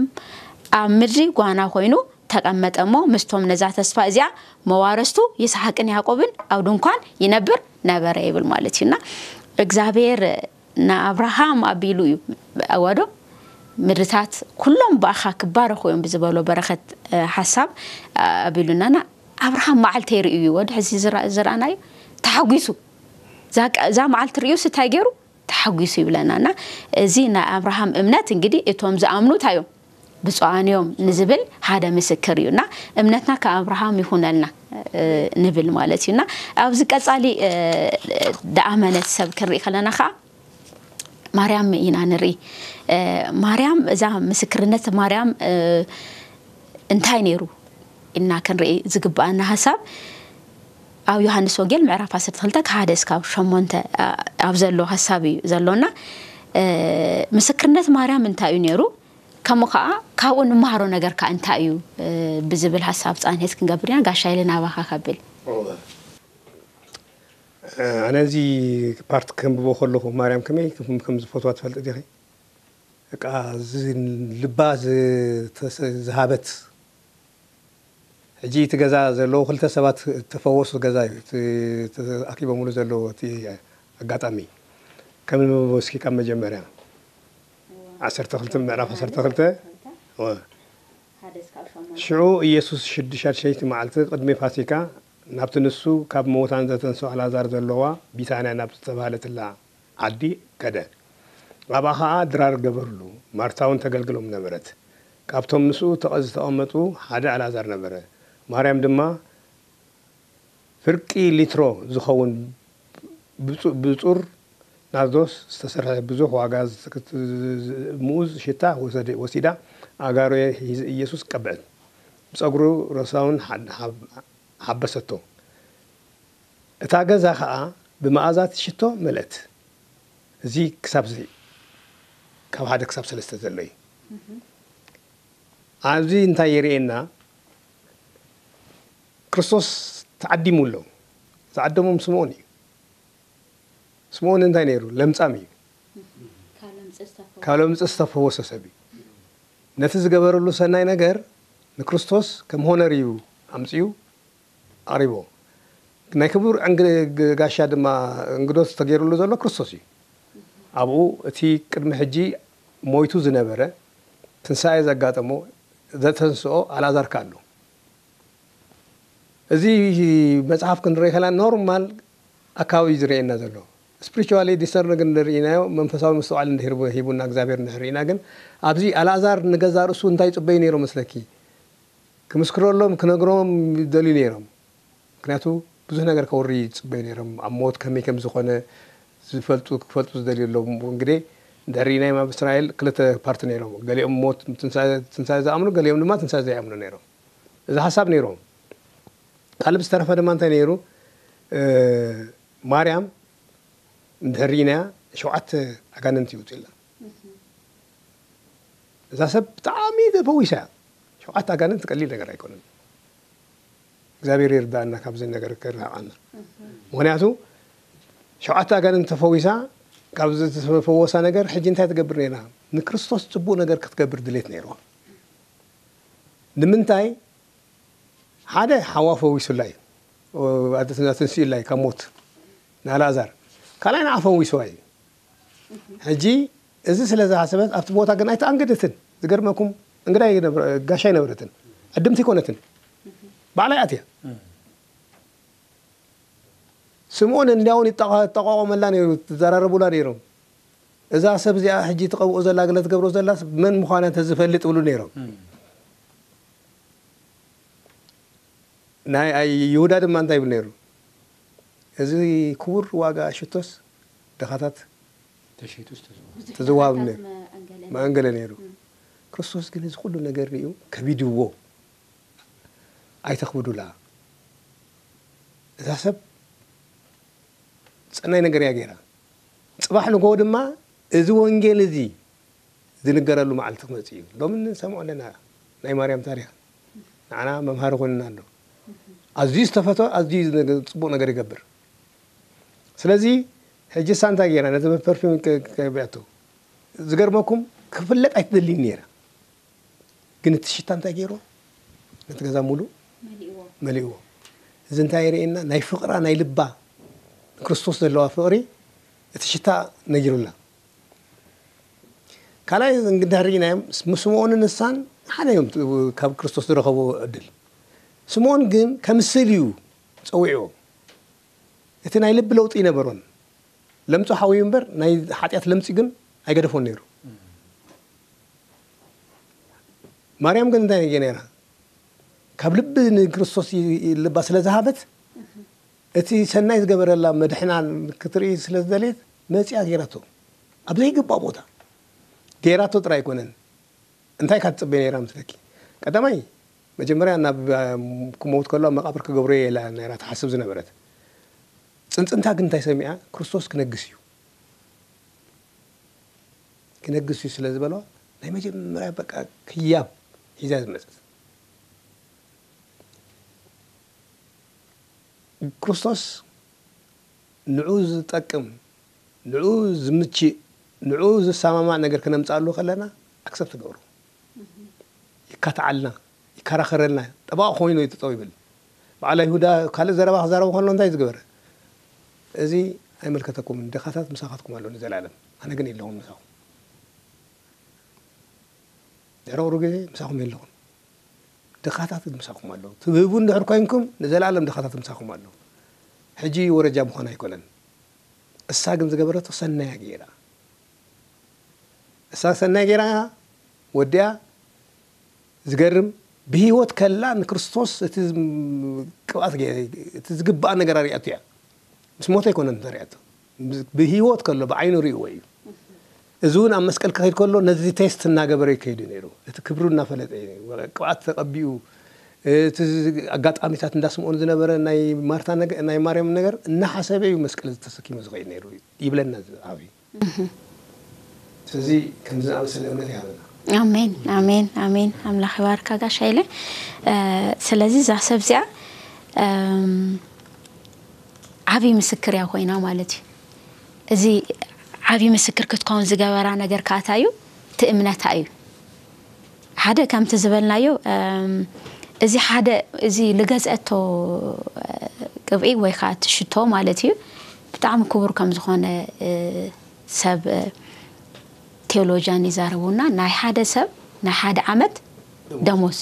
ኣብ ምድሪ ጓና ኮይኑ ተቐመጠ እሞ ምስቶም ነዛ ተስፋ እዚኣ መዋረስቱ ይስሓቅን ያዕቆብን ኣብ ድንኳን ይነብር ነበረ ይብል ማለት እዩ። እና እግዚኣብሔር ንኣብርሃም ኣቢሉ እዩ ኣዋዶ ምድርታት ኩሎም ብኣኻ ክባረኹ እዮም ብዝበሎ በረኸት፣ እ፣ ሓሳብ ኣቢሉናና ኣብርሃም መዓልቲ ይርእዩ እዩ ወደ ሕዚ ዝራ-፣ ዝረኣናዩ ተሓጒሱ እዛ ቃ-፣ እዛ መዓልቲ ርእዩ ስታይ ገይሩ ተሓጒሱ ይብለና እና እዚ ናይ ኣብርሃም እምነት እንግዲህ እቶም ዝኣምኑ እንታይ እዮም ብፁዓን እዮም ንዝብል ሓደ ምስክር እዩ እና እምነትና ከኣብርሃም ይኹነልና፣ እ፣ ንብል ማለት እዩ እና ኣብዚ ቀጻሊ፣ እ፣ ደኣመነት ሰብ ክንርኢ ከለና ከዓ ማርያም ኢና ንርኢ። እ፣ ማርያም እዛ ምስክርነት ማርያም፣ እ፣ እንታይ ነይሩ ኢልና ክንርኢ ዝግብኣና ሓሳብ ኣብ ዮሃንስ ወንጌል ምዕራፍ ዓሰርተ ክልተ ካብ ሓደ እስካብ ሸሞንተ፣ እ፣ ኣብ ዘሎ ሓሳብ እዩ ዘሎና። እ፣ ምስክርነት ማርያም እንታይ እዩ ነይሩ? ከምኡ ከዓ ካብኡ ንመሃሮ ነገር ከዓ እንታይ እዩ፣ እ፣ ብዝብል ሓሳብ ፃንሄት ክንገብር ኢና። ጋሻ ኢለ ናባኻ ከብል። ኣነ እዚ ፓርት ከንብቦ ከለኹ ማርያም ከመይ ከም ዝፈትዋ ትፈልጥ ዲኺ? በቃ እዚ ልባ ዝተሰ-፣ ዝሃበት። ሕጂ እቲ ገዛ ዘለዉ ክልተ ሰባት ተፈወሱ ገዛ እዩ። እቲ ተኣኪቦምሉ ዘለዉ እቲ ኣጋጣሚ። ከም ንብቦ እስኪ ካብ መጀመርያ። ዓሰርተ ክልተ ምዕራፍ ዓሰርተ ክልተ። እወ። ሽዑ ኢየሱስ ሽዱሻት ሸይቲ መዓልቲ ቅድሚ ፋሲካ ናብቲ ንሱ ካብ ምዉታን ዘተንስኦ ኣልዓዛር ዘለዋ ቢታንያ ናብ ዝተባህለትላ ዓዲ ከደ። ኣብኣ ኸኣ ድራር ገበርሉ። ማርታ እውን ተገልግሎም ነበረት። ካብቶም ምስኡ ተቐ-፣ ዝተቐመጡ ሓደ ኣልዓዛር ነበረ። ማርያም ድማ ፍርቂ ሊትሮ ዝኸውን ብጹ-፣ ብጹር ናርዶስ ዝተሰርሐ ብዙሕ ዋጋ ዝትክት-፣ ምኡዝ ሽታ ወሰደ-፣ ወሲዳ ኣጋሮ ሒዘ ኢየሱስ ቀብዐት። ብጸጉሩ ረሳውን ሓ-፣ ሓብ-፣ ሓበሰቶ። እታ ገዛ ኸኣ ብመኣዛት ሽቶ መልአት። እዚ ክሳብ እዚ ካብ ሓደ ክሳብ ሰለስተ ዘሎ እዩ። ኣብዚ እንታይ የርእየና? ክርስቶስ ተዓዲሙ ኣሎ። ዝዓደሞም ስምዖን እዩ። ስምዖን እንታይ ነይሩ? ለምጻም እዩ። ካብ ለምጽ ዝተፈወሰ። ካብ ለምጽ ዝተፈወሰ ሰብ እዩ። ነቲ ዝገበረሉ ሰናይ ነገር ንክርስቶስ ከም ሆነር እዩ ኣምጺኡ ኣቕሪቦ። ናይ ክቡር ዕንግ-፣ ግ-፣ ጋሻ ድማ እንግዶት ተገይሩሉ ዘሎ ክርስቶስ እዩ። ኣብኡ እቲ ቅድሚ ሕጂ ሞይቱ ዝነበረ ትንሳኤ ዘጋጠሞ ዘተንስኦ ኣልዓዛር ከኣ ኣሎ። እዚ መጽሓፍ ክንርኢ ከለና ኖርማል ኣካባቢ እዩ ዝርእየና ዘሎ። ስፒሪቹዋሊ ዲሰርን ግን ንርእናዮ መንፈሳዊ ምስትውዓል እንድሕር ሂቡና እግዚኣብሔር እንድሕር ርኢና ግን ኣብዚ ኣልዓዛር ንገዛ ርእሱ እንታይ ይጽበዩ ነይሮም መስለኪ? ክምስክረሎም ክነግሮም ይደልዩ ነይሮም። ምክንያቱ ብዙሕ ነገር ከውሪ ይጽበዩ ነይሮም። ኣብ ሞት ከመይ ከም ዝኾነ ዝፈልጡ ክፈልጡ ዝደልዩ ኣለዉ። እንግዲህ እንድሕር ርኢናዮም ኣብ እስራኤል ክልተ ፓርቲ ነይሮም። ገሊኦም ሞት ትንሳኤ ትንሳኤ ዝኣምኑ፣ ገሊኦም ድማ ትንሳኤ ዘይኣምኑ ነይሮም። እዚ ሓሳብ ነይሮም። ካልእ ብዝተረፈ ድማ እንታይ ነይሩ? እ፣ ማርያም እንድሕር ርኢናያ ሸውዓተ ኣጋንንቲ ይውፅእላ። እዛ ሰብ ብጣዕሚ ተፈዊሳ እያ። ሸውዓተ ኣጋንንቲ ቀሊል ነገር ኣይኮነን። እግዚኣብሔር ይርዳእና ካብዚ ነገር ክርሕቀና። ምክንያቱ ሸውዓተ ኣጋንንቲ ተፈዊሳ ካብ ዝተፈወሳ ነገር ሕጂ እንታይ ትገብር ነይራ? ንክርስቶስ ጽቡቕ ነገር ክትገብር ድሌት ነይርዋ። ንምንታይ? ሓደ ሓዋ ፈዊሱላ እዩ። ኣደ ትንስእላ እዩ ካብ ሞት ንኣልኣዛር። ካልኣይ ንዓ ፈዊስዋ እዩ። ሕጂ እዚ ስለ ዝሓሰበት ኣብቲ ቦታ ግን ኣይተኣንገደትን። ዝገርመኩም እንግዳ ኣይነብረ- ጋሻ ኣይነበረትን፣ ዕድምቲ ኣይኮነትን፣ ባዕላ እያ ኣትያ። ስምዖን እንዲያውን ይጠቋ- ይጠቋቆመላ ነይሩ፣ ትዘራረቡላ ነይሮም። እዛ ሰብ እዚኣ ሕጂ ትቐብኦ ዘላ፣ ገለ ትገብሮ ዘላ መን ምዃና እንተዝፈልጥ ይብሉ ነይሮም። ናይ ኣይ- ይሁዳ ድማ እንታይ ይብል ነይሩ? እዚ ክቡር ዋጋ ሽቶስ ድኻታት ተሸይጡ ዝተዘዋ ተዘዋሃብ ነይሩ መዐንገለ መዐንገለ ነይሩ። ክርስቶስ ግን እዚ ኩሉ ነገር ሪኡ ከቢድዎ፣ ኣይተኽብዱላ፣ እዛ ሰብ ጸናይ ነገር እያ ገይራ። ጽባሕ ንግሆ ድማ እዚ ወንጌል እዚ ዝንገረሉ መዓልቲ ክመጽእ እዩ። ሎሚ ንሰምዖ ኣለና ናይ ማርያም ታሪኽ፣ ንዓና መምሃሪ ኮይንና ኣሎ። ኣዝዩ ዝተፈቶ ኣዝዩ ነገር- ጽቡቕ ነገር ይገብር። ስለዚ ሕጂ እሳ እንታይ ገይራ ነቲ ፐርፊም ከ- ከቢዐቶ? ዝገርመኩም ክፍለጥ ኣይትደልይን ነይራ፣ ግን እቲ ሽታ እንታይ ገይርዎ? ነቲ ገዛ ሙሉእ መሊእዎ መሊእዎ። እዚ እንታይ የርእየና? ናይ ፍቕራ ናይ ልባ ንክርስቶስ ዘለዋ ፍቕሪ እቲ ሽታ ነጊሩና። ካልኣይ እንግዲህ ርኢናዮም ምስ ስምዖንን ንሳን ሓደ እዮም ካብ ክርስቶስ ዝረኸብዎ ዕድል። ስምዖን ግን ከምስል እዩ ጸዊዕዎ። እቲ ናይ ልቢ ለውጢ ይነበሮን ለምጹ ሓውዩ እምበር ናይ ሓጢኣት ለምጺ ግን ኣይገደፎን ነይሩ። ማርያም ግን እንታይ ገ ነይራ? ካብ ልቢ ንክርስቶስ ይ- ይ- ልባ ስለ ዝሃበት እቲ ሰናይ ዝገበረላ መድሕና ክትርኢ ስለ ዝደለየት መፂኣ ገይራቶ ኣብ ዘይግባእ ቦታ ገይራቶ ጥራይ ኣይኮነን። እንታይ ካብ ትፅበ ነይራ ምስለኪ? ቀዳማይ መጀመርያ ናብ ክመውት ከሎ ኣብ መቃብር ክገብሮ እየ ኢላ ነይራ ትሓስብ ዝነበረት። ፅንፅንታ ግን እንታይ ሰሚዓ? ክርስቶስ ክነግስ እዩ ክነግስ እዩ ስለ ዝበሎ ናይ መጀመርያ በቃ ክያብ ሒዛ ዝመፀት ክርስቶስ ንዑ ዝጠቅም ንዑ ዝምችእ ንዑ ዝሰማማዕ ነገር ክነምፃሉ ከለና ኣክሰብ ትገብሩ ይካትዓልና ይከራኸረልና ጠባቕ ኮይኑ ይጥጠው ይብል። በዓል ይሁዳ ካልእ ዘረባ ክዛረቡ ከሎ እንታይ ዝገበረ? እዚ ኣይመልከተኩምን ድኻታት ምሳኻትኩም ኣሎ ንዘለኣለም ኣነ ግን የለኹም ምሳኹም። ድሕሪ ቁሩብ ግዜ ምሳኹም የለኹም። ድኻታት ምሳኹም ኣለዉ። ትብህቡ እንድሕር ኮይንኩም ንዘለኣለም ድኻታት ምሳኹም ኣለዉ። ሕጂ ወረጃ ምዃን ኣይኮነን። እሳ ግን ዝገበረቶ ሰናያ ገይራ እሳ ሰናይ ገይራ ወዲያ ዝገርም ብህይወት ከላ ንክርስቶስ እቲ ቅብኣት እቲ ዝግባኣ ነገር ኣሪኣቱ እያ። ምስ ሞተ ኣይኮነን ተሪኣቶ ብህይወት ከሎ ብዓይኑ ርእዎ እዩ። እዚ እውን ኣብ መስቀል ክኸይድ ከሎ ነዚ ቴስት እናገበረ ይከይዱ ነይሩ። እቲ ክብሩ እናፈለጠ እዩ። ቅብኣት ተቐቢኡ እቲ ኣጋጣሚታት እንዳስምኦን ዝነበረ ናይ ማርታ ናይ ማርያም ነገር እናሓሰበ እዩ መስቀል ዝተሰኪሙ ዝኸይድ ነይሩ ይብለና። ዓብዩ ስለዚ ከምዚ ዝኣመሰለ እምነት ይሃበና። ኣሜን ኣሜን ኣሜን። ኣምላኽ ይባርካ ጋሽ ሃይለ። ስለዚ እዛ ሰብ እዚኣ ዓብዪ ምስክር እያ ኮይና ማለት እዩ። እዚ ዓብዪ ምስክር ክትከውን ዝገበራ ነገር ከኣታ እዩ እቲ እምነታ እዩ። ሓደ ከምቲ ዝበልናዮ እዚ ሓደ እዚ ልገዝአቶ ቅብኢ ወይ ከዓ እቲ ሽቶ ማለት እዩ ብጣዕሚ ክቡር ከም ዝኾነ ሰብ ቴዎሎጂያን ይዛረቡና ናይ ሓደ ሰብ ናይ ሓደ ዓመት ደሞዝ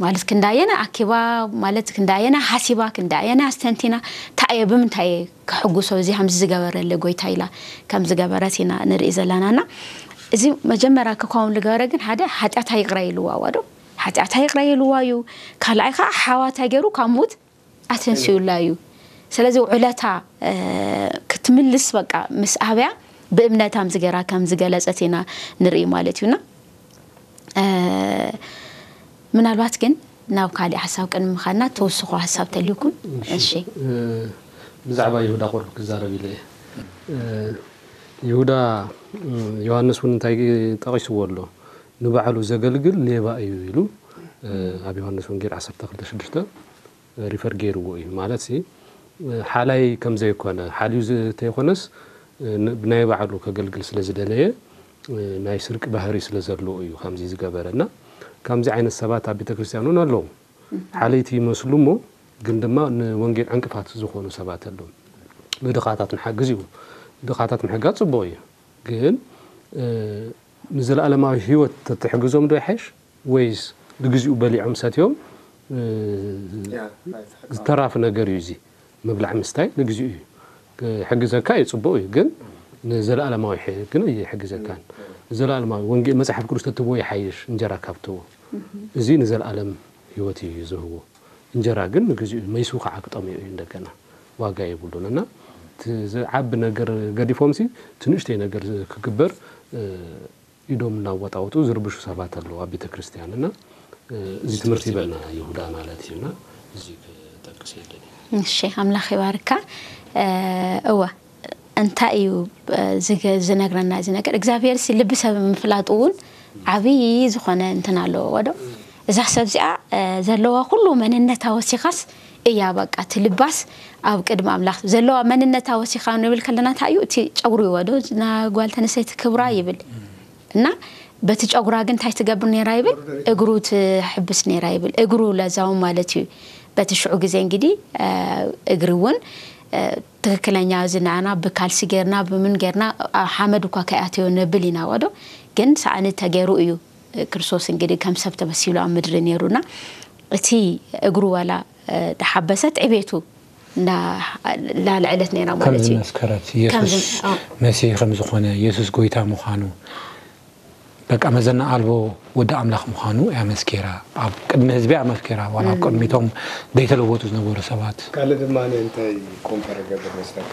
ማለት ክንዳየና ኣኪባ ማለት ክንዳየና ሓሲባ ክንዳየና ኣስተንቲና እንታይ እየ ብምንታይ እየ ክሕጉሶ እዚ ከምዚ ዝገበረለ ጎይታ ኢላ ከም ዝገበረት ኢና ንርኢ ዘለና እና እዚ መጀመርያ ክኸውን ዝገበረ ግን ሓደ ሓጢኣታ ይቕረ ኢልዋ ዋዶ ሓጢኣታ ይቕረ ኢልዋ እዩ። ካልኣይ ከዓ ሓዋታ ገይሩ ካብ ሙት ኣተንሲኡላ እዩ። ስለዚ ውዕለታ ክትምልስ በቃ ምስ ኣብያ ብእምነታ ምዚ ገይራ ከም ዝገለጸት ኢና ንርኢ ማለት እዩና። ምናልባት ግን ናብ ካሊእ ሓሳብ ቅድሚ ምኻድና ተወስኹ ሓሳብ ተልዩኩም። እሺ ብዛዕባ ይሁዳ ቁሩብ ክዛረብ ኢለ እየ። ይሁዳ ዮሃንስ እውን እንታይ ጠቒስዎ ኣሎ? ንባዕሉ ዘገልግል ሌባ እዩ ኢሉ ኣብ ዮሃንስ ወንጌል ዓሰርተ ክልተ ሽዱሽተ ሪፈር ገይርዎ እዩ ማለት ሲ ሓላይ ከም ዘይኮነ ሓልዩ ዝተይኮነስ ብናይ ባዕሉ ከገልግል ስለ ዝደለየ ናይ ስርቂ ባህሪ ስለ ዘለዎ እዩ ከምዚ ዝገበረ እና ከምዚ ዓይነት ሰባት ኣብ ቤተ ክርስቲያን እውን ኣለዉ። ሓለይቲ ይመስሉ እሞ ግን ድማ ንወንጌል ዕንቅፋት ዝኾኑ ሰባት ኣለዉ። ንድኻታት ንሓግዝ እዩ ድኻታት ምሕጋዝ ጽቡቕ እዩ፣ ግን ንዘለኣለማዊ ህይወት ተትሕግዞም ዶ ይሓይሽ ወይስ ንግዚኡ በሊዖም ሰትዮም ዝተራፍ ነገር እዩ? እዚ ምብላዕ ምስታይ ንግዚኡ እዩ፣ ክሕግዘካ እዩ፣ ጽቡቕ እዩ፣ ግን ንዘለኣለማዊ ግን ይሕግዘካን። ንዘለኣለማዊ ወንጌል መጽሓፍ ቅዱስ ተትቦ ይሓይሽ እንጀራ ካብ ትቦ። እዚ ንዘለኣለም ህይወት እዩ ዝህቦ። እንጀራ ግን ንግዚኡ መይሱ ከዓ ክጠምዮ እዩ፣ እንደገና ዋጋ የብሉን። እና ዝዓቢ ነገር ገዲፎም ሲ ትንሽተይ ነገር ክግበር ኢዶም እናወጣወጡ ዝርብሹ ሰባት ኣለዉ ኣብ ቤተ ክርስቲያን። እና እዚ ትምህርቲ ይበልና ይሁዳ ማለት እዩ። እና እዚ ክጠቅስ የለን። እሺ፣ ኣምላኽ ይባርካ። እወ፣ እንታይ እዩ ዝነግረና እዚ ነገር? እግዚኣብሔር ሲ ልቢ ሰብ ምፍላጡ እውን ዓብዪ ዝኾነ እንትን ኣለዎ ወዶ። እዛ ሰብ እዚኣ ዘለዋ ኩሉ መንነታ ወሲኻስ እያ፣ በቃ እቲ ልባስ ኣብ ቅድሚ ኣምላኽ ዘለዋ መንነታ ወሲኻ ንብል ከለና እንታይ እዩ? እቲ ጨጉሪ እዩ ወዶ፣ ና ጓል ተነሰይቲ ክብራ ይብል እና በቲ ጨጉራ ግን እንታይ ትገብር ነራ ይብል? እግሩ ትሕብስ ነራ ይብል። እግሩ ለዛው ማለት እዩ። በቲ ሽዑ ግዜ እንግዲህ እግሪ እውን ትክክለኛ እዚ ንዓና ብካልሲ ጌርና ብምን ጌርና ሓመድ እኳ ከይኣተዮ ነብል ኢና ወዶ። ግን ሳእኒ ተገይሩ እዩ ክርስቶስ እንግዲህ ከም ሰብ ተመሲሉ ኣብ ምድሪ ነይሩና። እቲ እግሩ ዋላ ተሓበሰት ዕቤቱ ላልዐለት ነይራ ማለት እዩ። መስከረት ኢየሱስ መሲህ ከም ዝኾነ፣ ኢየሱስ ጎይታ ምዃኑ፣ በቃ መዘና ኣልቦ ወዲ ኣምላኽ ምዃኑ እያ መስኪራ። ኣብ ቅድሚ ህዝቢ እያ መስኪራ፣ ዋላ ኣብ ቅድሚቶም ዘይተለወጡ ዝነበሩ ሰባት። ካልእ ድማ እንታይ ኮምፐር ገብር መስለካ?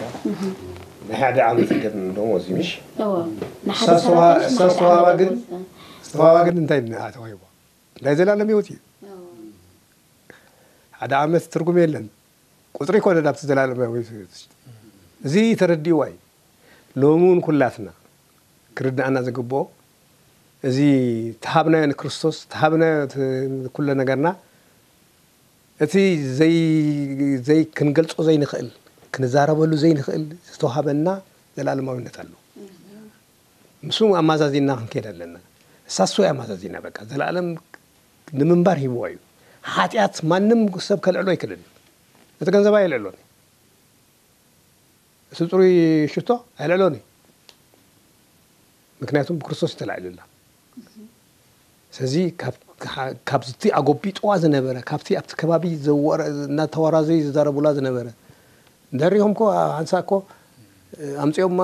ናይ ሓደ ዓመት ገር ደሞዝ እዩ፣ ምሽ? እወ፣ ንሓደ እሳ ሰራሕተኛ ኣስተዋባ ግን፣ ኣስተዋባ ግን እንታይ ተዋሂቦ? ናይ ዘላለም ህይወት እዩ። ሓደ ዓመት ትርጉም የለን። ቁፅሪ ይኮነ ናብቲ ዘላለማዊ ህይወት። እዚ ተረዲእዋ እዩ። ሎሚ እውን ኩላትና ክርድኣና ዝግብኦ፣ እዚ ተሃብናዮ ንክርስቶስ፣ ተሃብናዮ እቲ ኩለ ነገርና፣ እቲ ዘይ-፣ ዘይ-፣ ክንገልጾ ዘይንኽእል፣ ክንዛረበሉ ዘይንኽእል ዝተዋሃበና ዘላለማዊነት ኣሎ። ምስኡ ኣማዛዚና ክንከይድ ኣለና። እሳሱ ኣማዛዚና፣ በቃ፣ ዘላለም ንምንባር ሂብዋ እዩ። ሓጢኣት ማንም ሰብ ከልዕሎ ኣይክእልን እዩ። እቲ ገንዘብ ኣየልዕሎን እዩ። እቲ ጽሩይ ሽቶ ኣየልዕሎን እዩ። ምክንያቱም ብክርስቶስ እዩ ተላዒሉላ። ስለዚ ካብ፣ ካብቲ ኣጎቢጥዋ ዝነበረ፣ ካብቲ ኣብቲ ከባቢ ዘወረ-፣ እናተወራዘዩ ዝዛረቡላ ዝነበረ፣ ደሪኹም እኮ፣ ሓንሳእ እኮ ኣምጺኦማ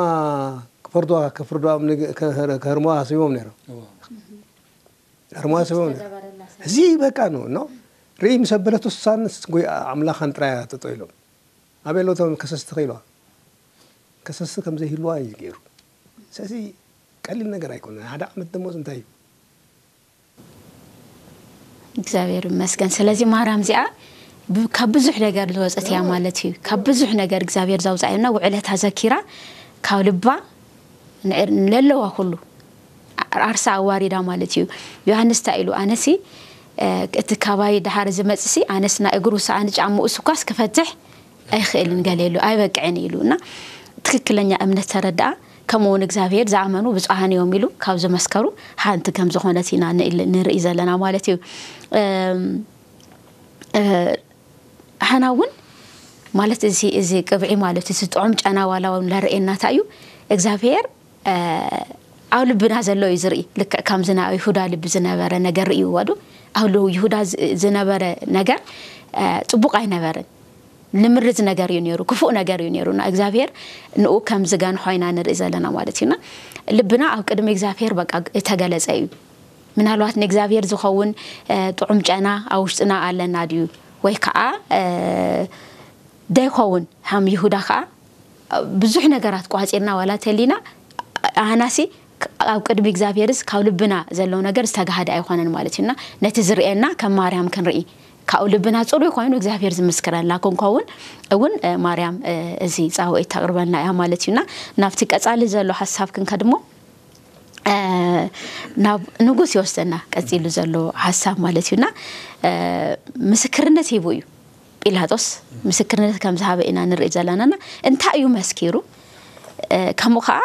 ክፈርዱዋ፣ ከፍርዱዋ፣ ከህርሙዋ ሃሲቦም ነይሮም። ኣርማስቦ እዚ በቃ ነው ነው ርኢ ምስ ኣበለቱ እሳንስ ጎይ ኣምላኻን ጥራይ ጠጠው ኢሎም። ኣበይ ኣለዉ እቶም ከሰስቲ ከ ኢልዋ? ከሰስቲ ከም ዘይህልዋ እዩ ገይሩ። ስለዚ ቀሊል ነገር ኣይኮነን። ሓደ ዓመት ደሞዝ እንታይ እዩ? እግዚኣብሔር ይመስገን። ስለዚ ማርያም እዚኣ ብ-፣ ካብ ብዙሕ ነገር ዝወፀት እያ ማለት እዩ። ካብ ብዙሕ ነገር እግዚኣብሔር ዘውፅኣ እያ እና ውዕለታ ዘኪራ ካብ ልባ ንዕር-፣ ንለለዋ ኩሉ ዓርሳ ኣዋሪዳ ማለት እዩ። ዮሃንስ እንታይ ኢሉ? ኣነሲ፣ እ፣ እቲ ካባይ ደሓር ዝመጽሲ ኣነስ ናይ እግሩ ሰኣን ጫምኡ ስኳስ ክፈትሕ ኣይኽእልን ገለ ኢሉ፣ ኣይበቅዕን ኢሉ እና ትክክለኛ እምነት ተረድኣ። ከምኡ እውን እግዚኣብሔር ዝኣመኑ ብፁዓን እዮም ኢሉ ካብ ዝመስከሩ ሓንቲ ከም ዝኾነት ኢና ንእል-፣ ንርኢ ዘለና ማለት እዩ። እም፣ እ፣ ኣሕና እውን ማለት እዚ፣ እዚ ቅብዒ ማለት እዚ ጥዑም ጨና ዋላ እውን ለርእየና እንታይ እዩ እግዚኣብሔር፣ እ፣ ኣብ ልብና ዘሎ እዩ ዝርኢ። ልክዕ ከምዚ ናይ ይሁዳ ልቢ ዝነበረ ነገር ርእይዎ ዶ? ኣብ ል-፣ ይሁዳ ዝ-፣ ዝነበረ ነገር፣ እ፣ ጽቡቕ ኣይነበረን። ንምርዝ ነገር እዩ ነይሩ፣ ክፉእ ነገር እዩ ነይሩ። እና እግዚኣብሔር ንኡ ከም ዝገንሖ ኢና ንርኢ ዘለና ማለት እዩ። እና ልብና ኣብ ቅድሚ እግዚኣብሔር በቃ እተገለጸ እዩ። ምናልባት ንእግዚኣብሔር ዝኸውን፣ እ፣ ጥዑም ጨና ኣብ ውሽጥና ኣለና ድዩ? ወይ ከዓ፣ እ፣ ደይኸውን ሃም ይሁዳ ከዓ ብዙሕ ነገራት ቋጺርና ዋላ ተሊና ኣህናሲ ኣብ ቅድሚ እግዚኣብሔርስ ካብ ልብና ዘሎ ነገር ዝተጋሃደ ኣይኮነን ማለት እዩና ነቲ ዝርእየና ከም ማርያም ክንርኢ ካብኡ ልብና ጽሩይ ኮይኑ እግዚኣብሔር ዝምስክረላ ክንከውን እውን፣ እ፣ ማርያም፣ እ፣ እዚ ጻውዒት ተቕርበልና እያ ማለት እዩና ናብቲ ቀጻሊ ዘሎ ሓሳብ ክንከድሞ፣ እ፣ ናብ ንጉስ ይወስደና ቀጺሉ ዘሎ ሓሳብ ማለት እዩና፣ እ፣ ምስክርነት ሂቡ እዩ ጲላጦስ ምስክርነት ከም ዝሃበ ኢና ንርኢ ዘለናና እንታይ እዩ መስኪሩ፣ እ፣ ከምኡ ከዓ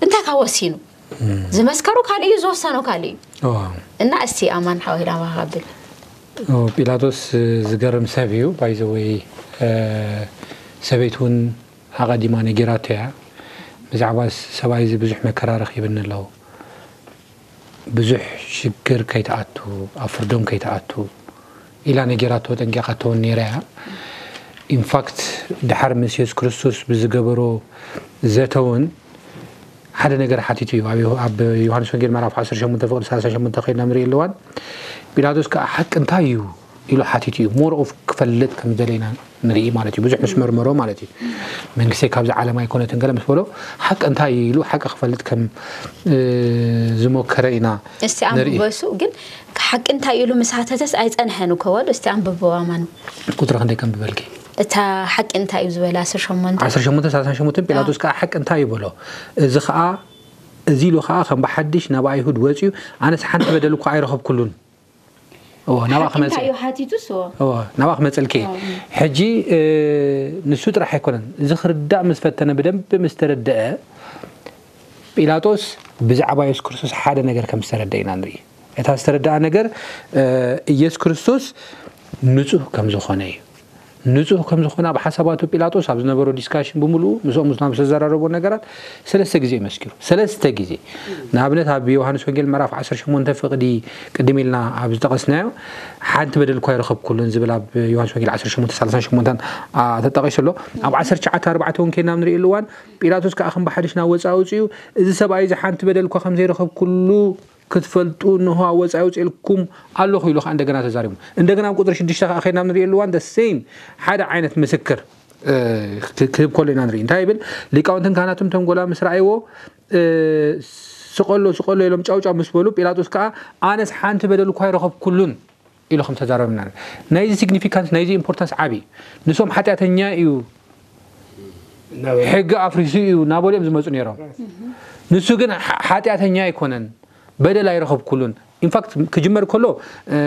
እንታይ ካብ ወሲኑ ዝመስከሩ ካልእ እዩ ዝወሰኖ ካልእ እዩ። እና እስቲ ኣማን ሓወይ ዳማ ካብል ኦ፣ ጲላጦስ ዝገርም ሰብ እዩ ባይዘወይ። ሰበይት እውን ኣቐዲማ ነጊራቶ እያ። ብዛዕባ ሰብኣይ እዚ ብዙሕ መከራ ረኺብኒ ኣለዉ፣ ብዙሕ ሽግር ከይትኣቱ፣ ኣብ ፍርዶም ከይትኣቱ ኢላ ነጊራቶ፣ ጠንቂቓቶ እውን ነይራ እያ። ኢንፋክት ድሓር ምስ የሱስ ክርስቶስ ብዝገበሮ ዘተ እውን ሓደ ነገር ሓቲቱ እዩ። ኣብ ዮሃ-፣ ኣብ ዮሃንስ ወንጌል ምዕራፍ ዓሰርተ ሸሞንተ ፍቕዲ ሰላሳ ሸሞንተ ከይድና ንርኢ ኣለዋን። ፒላጦስ ከኣ ሓቂ እንታይ እዩ ኢሉ ሓቲቱ እዩ። ሞር ኦፍ ክፈልጥ ከም ዝደለየና ንርኢ ማለት እዩ። ብዙሕ ምስ መርመሮ ማለት እዩ። መንግስተይ ካብዚ ዓለም ኣይኮነትን ገለ ምስ በሎ ሓቂ እንታይ እዩ ኢሉ ሓቂ ክፈልጥ ከም፣ እ፣ ዝሞከረ ኢና እስቲ ንርኢ። ኣንብቦ እሱ ግን ሓቂ እንታይ ኢሉ ምስ ሓተተስ ኣይጸንሐን እኮ ወሉ። እስቲ ኣንብቦ ኣማን። ቁጽሪ ክንደይ ከንብበልኪ? እታ ሓቂ እንታይ እዩ ዝበላ ዓሰርተ ሸሞንተ። ዓሰርተ ሸሞንተ ሰላሳ ሸሞንተ ፒላጦስ ከኣ ሓቂ እንታይ እዩ በሎ? እዚ ከኣ፣ እዚ ኢሉ ከኣ ከም ብሓድሽ ናብ ኣይሁድ ወጺኡ፣ ኣነስ ሓንቲ በደል እኳ ኣይረኸብኩሉን። እዎ፣ ናብኣ ሓቂ እንታይ ክመጽእ እዩ ሓቲቱስ? እዎ። እዎ፣ ናብኣ ክመጽእልኪ። እዎ። ሕጂ፣ እ፣ ንሱ ጥራሕ ኣይኮነን። እዚ ክርዳእ ምስ ፈተነ፣ ብደንቢ ምስ ተረድአ፣ ጲላጦስ ብዛዕባ የሱስ ክርስቶስ ሓደ ነገር ከም ዝተረድአ ኢና ንርኢ። እታ ዝተረድኣ ነገር፣ እ፣ ኢየሱስ ክርስቶስ ንጹህ ከም ዝኾነ እዩ። ንጹህ ከም ዝኾነ ኣብ ሓሳባቱ ጲላጦስ ኣብ ዝነበሮ ዲስካሽን ብምሉኡ ምስኦም ምስ ናብ ዝተዘራረቦ ነገራት ሰለስተ ግዜ እዩ መስኪሩ። ሰለስተ ግዜ። ንኣብነት ኣብ ዮሃንስ ወንጌል ምዕራፍ ዓሰርተ ሸሞንተ ፍቕዲ ቅድም ኢልና ኣብ ዝጠቐስናዮ ሓንቲ በደል እኳ ኣይረኸብኩሉን ዝብል ኣብ ዮሃንስ ወንጌል ዓሰርተ ሸሞንተ ሰላሳን ሸሞንተን፣ ኣ፣ ተጠቒሱ ኣሎ። ኣብ ዓሰርተ ትሽዓተ ኣርባዕተ እውን ከይና ንርእየሉ እዋን ጲላጦስ ከኣ ከም ብሓድሽ ናብ ወጻኢ ኣውጺኡ፣ እዚ ሰብኣይ እዚ ሓንቲ በደል እኳ ከም ዘይረኸብኩሉ ክትፈልጡ እንሆ ኣብ ወጻኢ ኣውጺኤልኩም ኣለኹ ኢሉ ከኣ እንደገና ተዛሪቡ። እንደገና ኣብ ቁጽሪ ሽዱሽተ ከኣ ከይና ንርእየሉ እዋን the same ሓደ ዓይነት ምስክር፣ እ፣ ክ-፣ ክህብ ከሎ ኢና ንርኢ። እንታይ ይብል? ሊቃውንትን ካህናትን ተንጎላ ምስ ረኣይዎ፣ እ፣ ስቐሎ፣ ስቐሎ ኢሎም ጫው ጫው ምስ በሉ፣ ጲላጦስ ከኣ ኣነስ ሓንቲ በደል እኳ ኣይረኸብኩሉን ኢሉ ከም ተዛረበ ኢና ንርኢ። ናይዚ ሲግኒፊካንስ፣ ናይዚ ኢምፖርታንስ ዓቢ እዩ። ንሶም ሓጢኣተኛ እዩ፣ ሕጊ ኣፍሪሱ እዩ እናበሉ እዮም ዝመጹ ነይሮም። ንሱ ግን ሓ-፣ ሓጢኣተኛ ኣይኮነን፣ በደል ኣይረኸብኩሉን። ኢንፋክት ክጅመር ከሎ፣ እ፣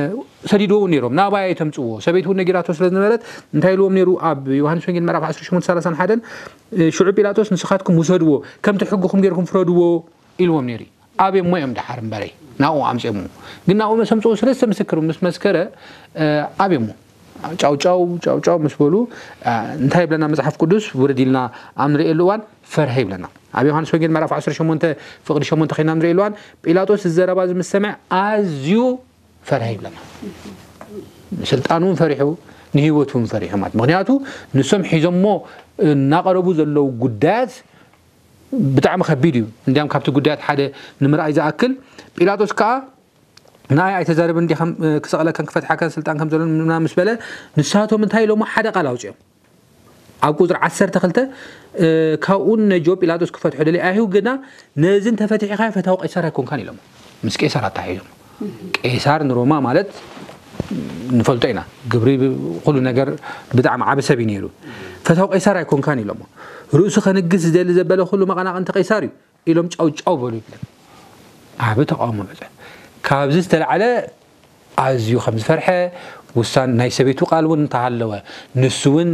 ሰዲድዎ እውን ነይሮም፣ ናባይ ኣይተምጽዎ። ሰበይቱ እውን ነጊራቶ ስለ ዝነበረት እንታይ ኢልዎም ነይሩ? ኣብ ዮሃንስ ወንጌል ምዕራፍ ዓሰርተ ሸሞንተ ሰላሳን ሓደን፣ እ፣ ሽዑ ጲላጦስ ንስኻትኩም ውሰድዎ፣ ከምቲ ሕግኹም ጌርኩም ፍረድዎ ኢልዎም ነይሩ። ኣብዮሞ እዮም ደሓር እምበረይ፣ ናብኡ ኣምጽኦሞ። ግን ናብኡ ምስ ኣምጽኦ ሰለስተ ምስክር ምስ መስከረ፣ እ፣ ኣብዮሞ። ጫው ጫው፣ ጫው ጫው ምስ በሉ፣ እ፣ እንታይ ይብለና መጽሓፍ ቅዱስ? ውርድ ኢልና ኣብ ንርእየሉ እዋን ፈርሀ ይብለና። ኣብ ዮሃንስ ወንጌል ምዕራፍ ዓሰርተ ሸሞንተ ፍቕዲ ሸሞንተ ኸይና ንርእየሉ እዋን ጲላጦስ እዚ ዘረባ እዚ ምስ ሰምዐ ኣዝዩ ፈርሀ ይብለና። ንስልጣኑ እውን ፈሪሑ፣ ንህይወቱ እውን ፈሪሑ ማለት። ምኽንያቱ ንሶም ሒዞሞ እናቐረቡ ዘለዉ ጉዳያት ብጣዕሚ ከቢድ እዩ። እንዲያም ካብቲ ጉዳያት ሓደ ንምርኣይ ዝኣክል፣ ጲላጦስ ከኣ ንኣይ ኣይተዛርብን ዲኻም፣ እ፣ ክሰቕለካን ክፈትሓካን ስልጣን ከም ዘሎን ምናምን ምስ በለ፣ ንሳቶም እንታይ ኢሎሞ? ሓደ ቃል ኣውጺኦም። ኣብ ቁጽሪ ዓሰርተ ክልተ፣ እ፣ ካብኡ ነጆ ጲላጦስ ክፈትሖ ደልዩ፣ ኣይሁድ ግና ነዚ እንተፈቲሕኻዮ ፈታዊ ቄሳር ኣይኮንካን ኢሎሞ። ምስ ቄሳር ኣተሓሒዞም። ቄሳር ንሮማ ማለት ንፈልጦ ኢና። ግብሪ ብ-፣ ኩሉ ነገር ብጣዕሚ ዓቢ ሰብ እዩ ነይሩ። ፈታዊ ቄሳር ኣይኮንካን ኢሎሞ። ርእሱ ከንግስ ዝደሊ ዘበለ ኩሉ መቐናቕንቲ ቄሳር እዩ ኢሎም ጫው ጫው በሉ ይብለን። ዓቢ ተቃውሞ በጸ። ካብዚ ዝተላዕለ ኣዝዩ ከም ዝፈርሐ፣ ውሳን ናይ ሰበይቱ ቃል እውን እንተሃለወ፣ ንሱ እውን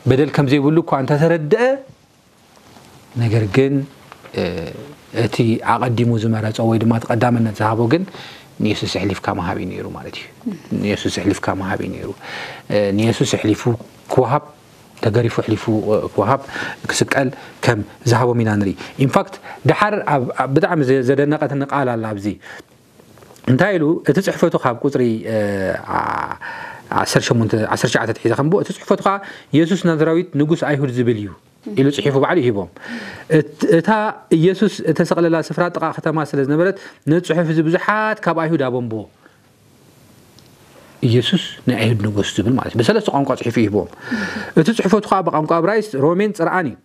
በደል ከም ዘይብሉ እኳ እንተተረድአ፣ ነገር ግን፣ እ፣ እቲ ኣቐዲሙ ዝመረጾ ወይ ድማ እቲ ቀዳምነት ዝሃቦ ግን ንየሱስ ኣሕሊፍካ ምሃብ እዩ ነይሩ ማለት እዩ። ንየሱስ ኣሕሊፍካ ምሃብ እዩ ነይሩ። እ፣ ንየሱስ ኣሕሊፉ ክወሃብ፣ ተገሪፉ ኣሕሊፉ፣ እ፣ ክወሃብ፣ ክስቀል ከም ዝሃቦም ኢና ንርኢ። ኢንፋክት፣ ደሓር ኣብ፣ ኣብ ብጣዕሚ ዘ-፣ ዘደነቐትኒ ቃል ኣላ ኣብዚ። እንታይ ኢሉ? እቲ ጽሕፈቱ ካብ ቁጽሪ፣ እ፣ ዓ-፣ ዓሰርተ ሸሞንተ፣ ዓሰርተ ትሽዓተ ኣትሒዘ ከንብቦ፣ እቲ ጽሕፈቱ ከኣ የሱስ ናዝራዊት ንጉስ ኣይሁድ ዝብል እዩ ኢሉ ጽሒፉ ባዕሉ ይሂቦም። እት-፣ እታ ኢየሱስ እተሰቕለላ ስፍራ ጥቓ ከተማ ስለ ዝነበረት፣ ነቲ ጽሑፍ እዚ ብዙሓት ካብ ኣይሁድ ኣበንብዎ። ኢየሱስ ናይ ኣይሁድ ንጉስ ዝብል ማለት እዩ። ብሰለስተ ቋንቋ ጽሒፉ ይሂቦም። እቲ ጽሕፈቱ ከኣ ብቋንቋ እብራይስጥ፣ ሮሜን ጽርኣን እዩ።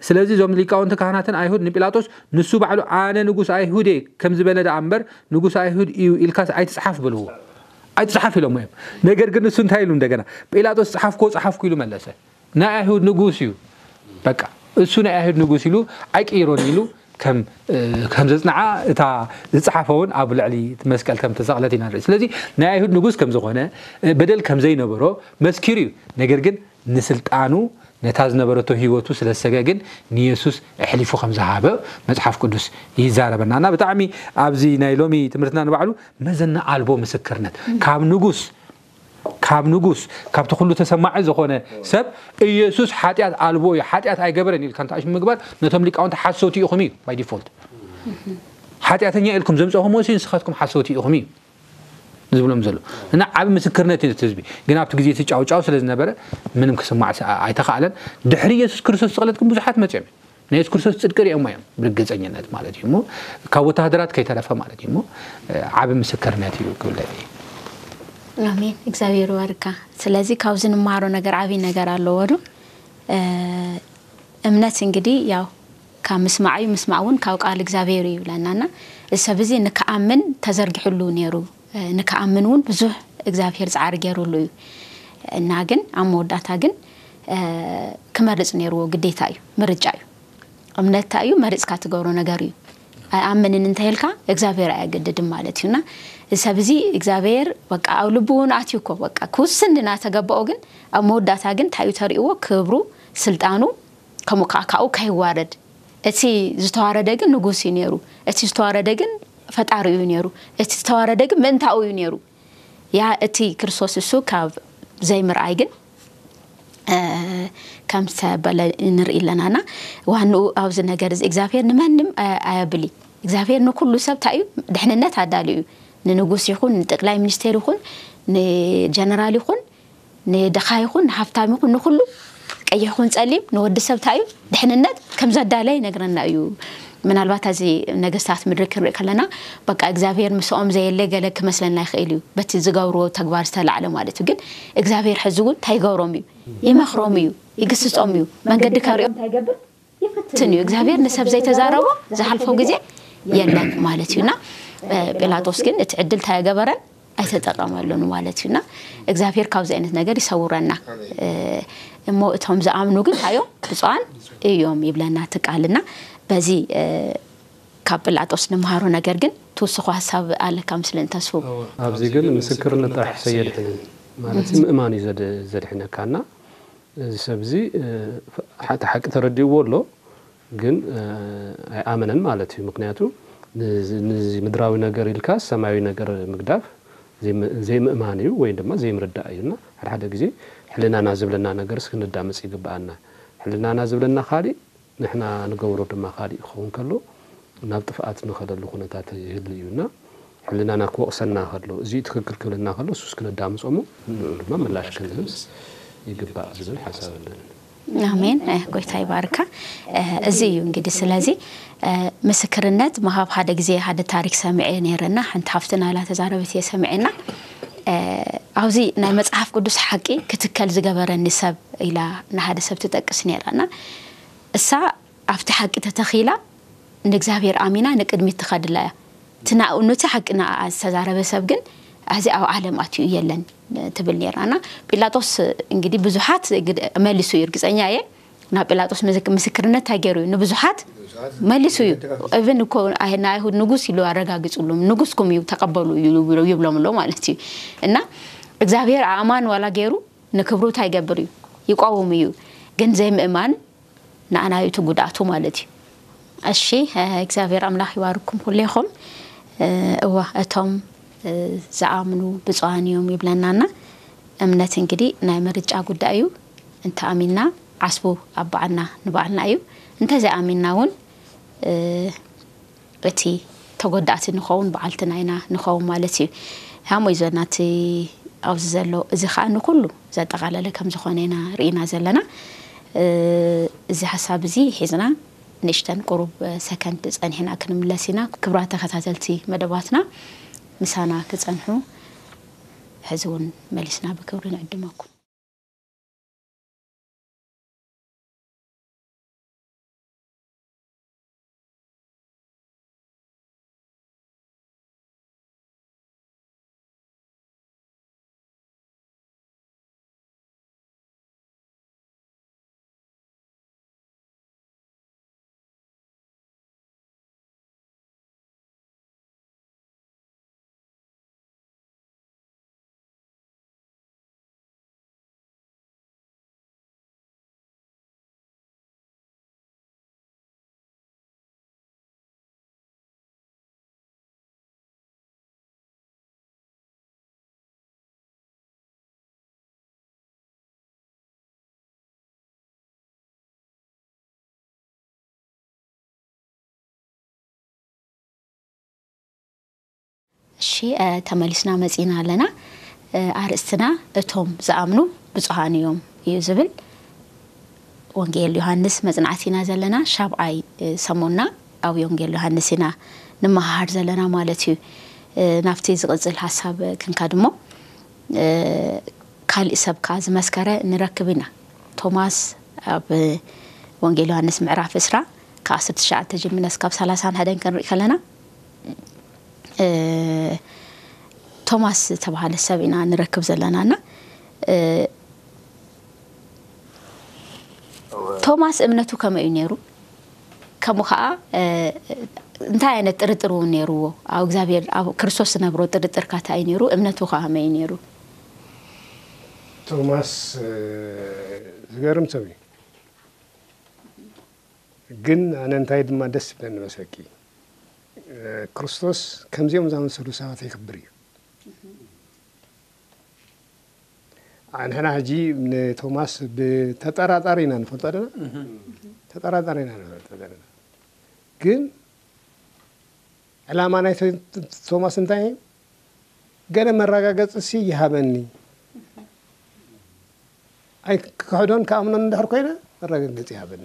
ስለዚ እዞም ሊቃውንቲ ካህናትን ኣይሁድ ንጲላጦስ ንሱ ባዕሉ "ኣነ ንጉስ ኣይሁድ እየ" ከም ዝበለ ደኣ እምበር "ንጉስ ኣይሁድ እዩ" ኢልካስ ኣይትጽሓፍ በልዎ። "ኣይትጽሓፍ" ኢሎሞ እዮም። ነገር ግን ንሱ እንታይ ኢሉ እንደገና? ጲላጦስ "ጸሓፍኮ፣ ጸሓፍኩ" ኢሉ መለሰ። "ናይ ኣይሁድ ንጉስ እዩ። በቃ እሱ ናይ ኣይሁድ ንጉስ" ኢሉ ኣይቅይሮን ኢሉ ከም፣ እ፣ ከም ዘጽንዓ እታ ዝጸሓፈ እውን ኣብ ልዕሊ እቲ መስቀል ከም ተሰቕለት ኢና ንርኢ። ስለዚ ናይ ኣይሁድ ንጉስ ከም ዝኾነ፣ እ፣ በደል ከም ዘይነበሮ መስኪሩ እዩ። ነገር ግን ንስልጣኑ ነታ ዝነበረቶ ህይወቱ ስለ ዝሰገ ግን ንየሱስ ኣሕሊፉ ከም ዝሃበ መጽሓፍ ቅዱስ ይዛረበና። እና ብጣዕሚ ኣብዚ ናይ ሎሚ ትምህርትና ንባዕሉ መዘና ኣልቦ ምስክርነት ካብ ንጉስ ካብ ንጉስ፣ ካብቲ ኩሉ ተሰማዒ ዝኾነ ሰብ፣ ኢየሱስ ሓጢኣት ኣልቦ እዩ፣ ሓጢኣት ኣይገበረን ኢልካ እንተኣሽ ምግባር፣ ነቶም ሊቃውንቲ ሓሰውቲ ኢኹም እዩ፣ by default። ሓጢኣተኛ ኢልኩም ዘምፀኹምዎ ሲ ንስኻትኩም ሓሰውቲ ኢኹም እዩ ዝብሎም ዘሎ። እና ዓቢ ምስክርነት እዩ እቲ ህዝቢ። ግን ኣብቲ ግዜ እቲ ጫውጫው ስለ ዝነበረ፣ ምንም ክስማዕ ስ-፣ ኣይተኻእለን። ድሕሪ ኢየሱስ ክርስቶስ ስቕለት ግን ብዙሓት መጺኦም እዮም። ናይ የሱስ ክርስቶስ ጽድቂ ርእዮሞ እዮም፣ ብርግጸኝነት ማለት እዩ። እሞ ካብ ወተሃደራት ከይተረፈ ማለት እዩ። እሞ፣ እ፣ ዓቢ ምስክርነት እዩ ክብል ደልየ። ኣሜን። እግዚኣብሔር ይባርካ። ስለዚ ካብዚ ንመሃሮ ነገር ዓቢ ነገር ኣለዎ ዶ? እ፣ እምነት እንግዲህ ያው ካብ ምስማዕ እዩ፣ ምስማዕ እውን ካብ ቃል እግዚኣብሔር እዩ ይብለና። እና እዚ ሰብ እዚ ንክኣምን ተዘርጊሕሉ ነይሩ፣ እ፣ ንክኣምን እውን ብዙሕ እግዚኣብሔር ጻዕሪ ገይሩሉ እዩ። እና ግን ኣብ መወዳእታ ግን፣ እ፣ ክመርጽ ነይርዎ፣ ግዴታ እዩ፣ ምርጫ እዩ። እምነት እንታይ እዩ? መሪጽካ ትገብሮ ነገር እዩ። ኣይኣምንን እንተ ኢልካ እግዚኣብሔር ኣየገድድን ማለት እዩ። እና እዚ ሰብ እዚ እግዚኣብሔር በቃ ኣብ ልቡ እውን ኣትዩ እኮ በቃ ክውስን እናተገበኦ ግን ኣብ መወዳእታ ግን እንታይ እዩ ተርእይዎ? ክብሩ፣ ስልጣኑ፣ ከምኡ ከዓ ካብኡ ከይዋረድ። እቲ ዝተዋረደ ግን ንጉስ እዩ ነይሩ። እቲ ዝተዋረደ ግን ፈጣሪኡ እዩ ነይሩ። እቲ ዝተዋረደ ግን ምእንታኡ እዩ ነይሩ። ያ እቲ ክርስቶስ እሱ ካብ ዘይምርኣይ ግን፣ እ፣ ከም ዝተበለ ንርኢ ኣለናና። ዋንኡ ኣብዚ ነገር እዚ እግዚኣብሔር ንመንም ኣየ-፣ ኣየብል እዩ። እግዚኣብሔር ንኩሉ ሰብ እንታይ እዩ? ድሕንነት ኣዳልዩ እዩ። ንንጉስ ይኹን፣ ንጠቅላይ ሚኒስቴር ይኹን፣ ንጀነራል ይኹን፣ ንድኻ ይኹን፣ ንሃብታም ይኹን፣ ንኩሉ ቀይሕ ይኹን ጸሊም፣ ንወዲ ሰብ እንታይ እዩ? ድሕንነት ከም ዘዳለየ ይነግረና እዩ። ምናልባት እዚ ነገስታት ምድሪ ክንርኢ ከለና፣ በቃ እግዚኣብሔር ምስኦም ዘየለ ገለ ክመስለና ይኽእል እዩ። በቲ ዝገብርዎ ተግባር ዝተላዕለ ማለት እዩ። ግን እግዚኣብሔር ሕዚ እውን እንታይ ይገብሮም እዩ? ይመኽሮም እዩ፣ ይግስጾም እዩ። መንገዲ ከርእዮም እንታይ ይገብር? ይፈትን እዩ። እግዚኣብሔር ንሰብ ዘይተዛረቦ ዝሓልፎ ግዜ የለን ማለት እዩ። እና፣ እ፣ ጲላጦስ ግን እቲ ዕድል እንታይ ኣይገበረን? ኣይተጠቐመሉን ማለት እዩ። እና እግዚኣብሔር ካብዚ ዓይነት ነገር ይሰውረና። እ፣ እሞ እቶም ዝኣምኑ ግን እንታይ እዮም? ብፁዓን እዮም ይብለና እቲ ቃል። እና በዚ፣ እ፣ ካብ ጲላጦስ ንመሃሮ ነገር ግን ትውስኾ ሓሳብ ኣለካ ምስለኒ ተስፉ? እወ። ኣብዚ ግን ምስክርነት ጥራሕ ሰየድሕንን ማለት እዩ፣ ምእማን እዩ ዘድ-፣ ዘድሕነካና። እዚ ሰብ እዚ፣ እ፣ እቲ ሓቂ ተረዲእዎ ኣሎ፣ ግን፣ እ፣ ኣይኣመነን ማለት እዩ። ምክንያቱ ንዚ፣ ንዚ ምድራዊ ነገር ኢልካ ሰማያዊ ነገር ምግዳፍ ዘይም-፣ ዘይምእማን እዩ ወይ ድማ ዘይምርዳእ እዩ። እና ሓደ ሓደ ግዜ ሕልናና ዝብለና ነገርስ ክነዳምፅ ይግብኣና። ሕልናና ዝብለና ካሊእ፣ ንሕና ንገብሮ ድማ ካሊእ ክኸውን ከሎ፣ ናብ ጥፍኣት ንኸደሉ ኩነታት ይህሉ እዩ። እና ሕልናና ክወቕሰና ከሎ፣ እዚ ትክክል ክብለና ከሎ፣ እሱስ ክነዳምጾ እሞ፣ ንዕኡ ድማ ምላሽ ክንህብስ ይግባእ ዝብል ሓሳብ ኣለኒ። ኣሜን። እ፣ ጎይታ ይባርካ። እ፣ እዚ እዩ እንግዲህ። ስለዚ፣ እ፣ ምስክርነት ምሃብ፣ ሓደ ግዜ ሓደ ታሪክ ሰሚዐ ነይረና፣ ሓንቲ ሃፍትና ላ ተዛረበት እየ ሰሚዐና። እ፣ ኣብዚ ናይ መጽሓፍ ቅዱስ ሓቂ ክትከል ዝገበረኒ ሰብ ኢላ ንሓደ ሰብ ትጠቅስ ነይራ። እና እሳ ኣብቲ ሓቂ ተተኺላ ንእግዚኣብሔር ኣሚና ንቅድሚት ትኸድላ እያ። እቲ ናኡ፣ ነቲ ሓቂ ንኣኣ ዝተዛረበ ሰብ ግን፣ "እዚ ኣብ ዓለም ኣትዩ የለን" ትብል ነይራ። እና ጲላጦስ እንግዲህ ብዙሓት ግድ-፣ መሊሱ እዩ፣ እርግጸኛ እየ። ናብ ጲላጦስ ምስክ-፣ ምስክርነት እንታይ ገይሩ እዩ? ንብዙሓት ብዙሓት መሊሱ እዩ። መድረኽ እብን እኮ ኣይ-፣ ናይ ኣይሁድ ንጉስ ኢሉ ኣረጋጊጹሎም፣ "ንጉስኩም እዩ፣ ተቐበሉ" እዩ ይብሎ-፣ ይብሎም ኣሎ ማለት እዩ። እና እግዚኣብሔር ኣእማን ዋላ ገይሩ ንክብሩ እንታይ ይገብር እዩ? ይቋውም እዩ። ግን ዘይምእማን ንኣና እዩ እቲ ጉድኣቱ ማለት እዩ። እሺ፣ እ፣ እግዚኣብሔር ኣምላኽ ይባርኩም ኩሌኹም። እ፣ እወ፣ እቶም፣ እ፣ ዝኣምኑ ብፁዓን እዮም ይብለናና። እምነት እንግዲህ ናይ ምርጫ ጉዳይ እዩ። እንተ ኣሚንና ዓስቡ ኣብ በዓልና ንባዕልና እዩ። እንተ ዘይኣሚንና እውን፣ እ፣ እቲ ተጎዳእቲ ንኸውን በዓልትና ኢና ንኸውን ማለት እዩ። ሃሞ እዩ ዘና እቲ ኣብዚ ዘሎ፣ እዚ ኸኣ ንኹሉ ዘጠቓለለ ከም ዝኾነ ኢና ርኢና ዘለና። እ፣ እዚ ሓሳብ እዚ ሒዝና ንእሽተን ቁሩብ ሰከንድ ጸኒሕና ክንምለስ ኢና። ክቡራት ተኸታተልቲ መደባትና ምሳና ክጸንሑ ሕዚ እውን መሊስና ብክብሪ ንዕድመኩም። እሺ፣ እ፣ ተመሊስና መጺና ኣለና። እ፣ ኣርእስትና እቶም ዝኣምኑ ብፁዓን እዮም እዩ ዝብል። ወንጌል ዮሃንስ መጽናዕቲ ኢና ዘለና። ሻብዓይ፣ እ፣ ሰሙንና ኣብ ወንጌል ዮሃንስ ኢና ንመሃር ዘለና ማለት እዩ። እ፣ ናብቲ ዝቕጽል ሓሳብ ክንከድ እሞ፣ እ፣ ካሊእ ሰብ ከኣ ዝመስከረ ንረክብ ኢና። ቶማስ ኣብ ወንጌል ዮሃንስ ምዕራፍ ዕስራ ካብ ዓሰርተ ትሽዓተ ጀሚርና እስካብ ሰላሳን ሓደን ክንርኢ ከለና፣ እ፣ ቶማስ ዝተባህለ ሰብ ኢና ንረክብ ዘለና እና፣ እ፣ ቶማስ እምነቱ ከመይ እዩ ነይሩ? ከምኡ ኸዓ፣ እ፣ እንታይ ዓይነት ጥርጥር እውን ነይርዎ? ኣብ እግዚኣብሔር፣ ኣብ ክርስቶስ ዝነብሮ ጥርጥር ከ እንታይ እዩ ነይሩ? እምነቱ ኸ ከመይ እዩ ነይሩ? ቶማስ፣ እ፣ ዝገርም ሰብ እዩ። ግን ኣነ እንታይ ድማ ደስ ይብለኒ መሰኪ፣ እ፣ ክርስቶስ ከምዚኦም ዝኣመሰሉ ሰባት የኽብር እዩ። ንሕና ሕጂ ንቶማስ ብተጠራጣሪ ኢና ንፈልጦ ኣለና። ተጠራጣሪ ኢና ንፈልጦ ዘለና። ግን ዕላማ ናይ ቶ-፣ ቶማስ እንታይ እዩ? ገለ መረጋገጺ ሲ ይሃበኒ። ኣይ ክሕዶን ክኣምኖን እንድሕር ኮይነ መረጋገጺ ይሃበኒ።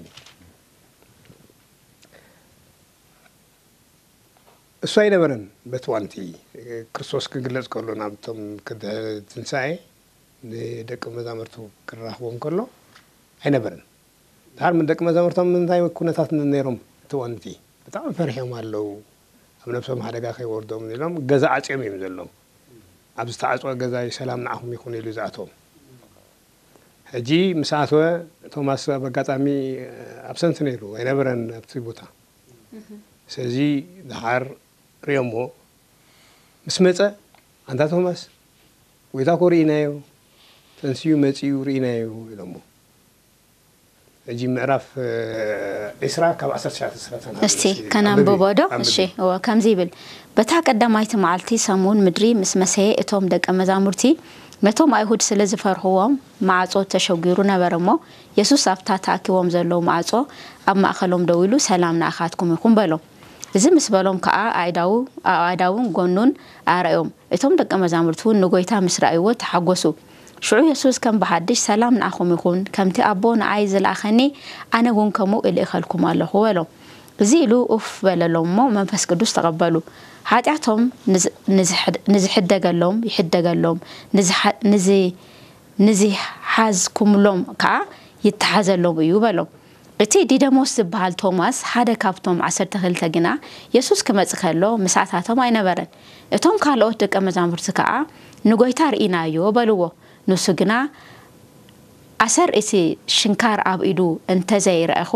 እሱ ኣይነበረን። በቲ ዋንቲ ክርስቶስ ክግለጽ ከሎ ናብቶም ክድሕሪ ትንሳኤ ንደቂ መዛሙርቱ ክራኽቦም ከሎ ኣይነበረን። ድሓር ደቂ መዛሙርቶም እንታይ ኩነታት ነይሮም? እቲ ዋንቲ ብጣዕሚ ፈሪሖም ኣለዉ። ኣብ ነብሶም ሓደጋ ከይወርዶም ኢሎም ገዛ ዓጽዮም እዮም ዘለዉ። ኣብ ዝተዓጽወ ገዛ እዩ ሰላም ንዓኹም ይኹን ኢሉ ዝኣትዎም። ሕጂ ምስ ኣተወ ቶማስ ኣብ ኣጋጣሚ ኣብሰንት ነይሩ ኣይነበረን ኣብቲ ቦታ። ስለዚ ድሓር ሪኦሞ ምስ መጸ ኣንታ ቶማስ ጎይታ እኮ ርኢናዮ ተንስዩ መጺኡ ርኢናዮ ኢሎሞ። ሕጂ ምዕራፍ ዒስራ ካብ ዓሰርተ ትሽዓተ እስካብ ሰላሳ እስቲ ከነንብቦ ዶ? እሺ፣ እወ፣ ከምዚ ይብል፣ በታ ቀዳማይቲ መዓልቲ ሰሙን ምድሪ ምስ መሰየ እቶም ደቀ መዛሙርቲ ነቶም ኣይሁድ ስለ ዝፈርህዎም ማዕጾ ተሸጒሩ ነበረ እሞ የሱስ ኣብታ ተኣኪቦም ዘለዉ ማዕጾ ኣብ ማእከሎም ደው ኢሉ ሰላም ንኣኻትኩም ይኹን በሎም። እዚ ምስ በሎም ከኣ ኣእዳዉ ኣእዳዉን ጎኑን ኣርኣዮም። እቶም ደቀ መዛሙርቲ እውን ንጎይታ ምስ ረኣይዎ ተሓጎሱ። ሽዑ የሱስ ከም ብሓድሽ ሰላም ንኣኹም ይኹን፣ ከምቲ ኣቦ ንኣይ ዝለኣኸኒ ኣነ እውን ከምኡ እልእኸልኩም ኣለኹ በሎም። እዚ ኢሉ ኡፍ በለሎም እሞ መንፈስ ቅዱስ ተቐበሉ። ሓጢኣቶም ንዝ- ንዝሕድ- ንዝሕደገሎም ይሕደገሎም፣ ንዝሓ- ንዝ- ንዝሓዝኩምሎም ከኣ ይተሓዘሎም እዩ በሎም። እቲ ዲደሞስ ዝበሃል ቶማስ ሓደ ካብቶም ዓሰርተ ክልተ ግና የሱስ ክመጽእ ከሎ ምሳታቶም ኣይነበረን። እቶም ካልኦት ደቀ መዛሙርቲ ከኣ ንጎይታ ርኢናዮ በልዎ። ንሱ ግና ኣሰር እቲ ሽንካር ኣብ ኢዱ እንተ ዘይረኣኹ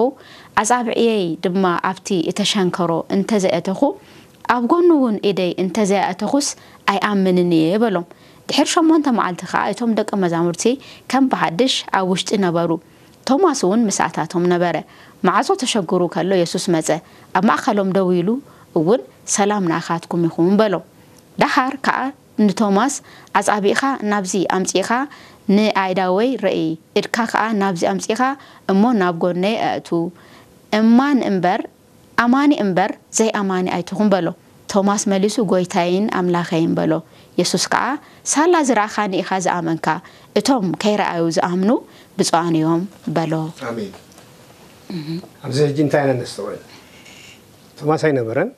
ኣጻብዕየይ ድማ ኣብቲ እተሸንከሮ እንተ ዘይኣተኹ ኣብ ጎኑ እውን ኢደይ እንተ ዘይኣተኹስ ኣይኣምንን እየ በሎም። ድሕሪ ሸሞንተ መዓልቲ ኸኣ እቶም ደቀ መዛሙርቲ ከም ብሓድሽ ኣብ ውሽጢ ነበሩ። ቶማስ እውን ምሳእታቶም ነበረ። ማዕጾ ተሸግሩ ከሎ የሱስ መጸ፣ ኣብ ማእከሎም ደው ኢሉ እውን ሰላም ንኣኻትኩም ይኹን በሎም። ደሓር ከኣ ንቶማስ ኣጻብዕኻ ናብዚ ኣምጺእኻ ንኣእዳወይ ርእይ፣ እድካ ከኣ ናብዚ ኣምጺእኻ እሞ ናብ ጎነይ ኣእቱ፣ እማን እምበር ኣማኒ እምበር ዘይኣማኒ ኣይትኹን በሎ። ቶማስ መሊሱ ጐይታይን ኣምላኸይን በሎ። የሱስ ከኣ ሳላ ዝረኣኻኒ ኢኻ ዝኣመንካ፣ እቶም ከይረኣዩ ዝኣምኑ ብፁዓን እዮም በሎ። ኣሜን። ኣብዚ ሕጂ እንታይ ኢና ነስተውዕል? ቶማስ ኣይነበረን፣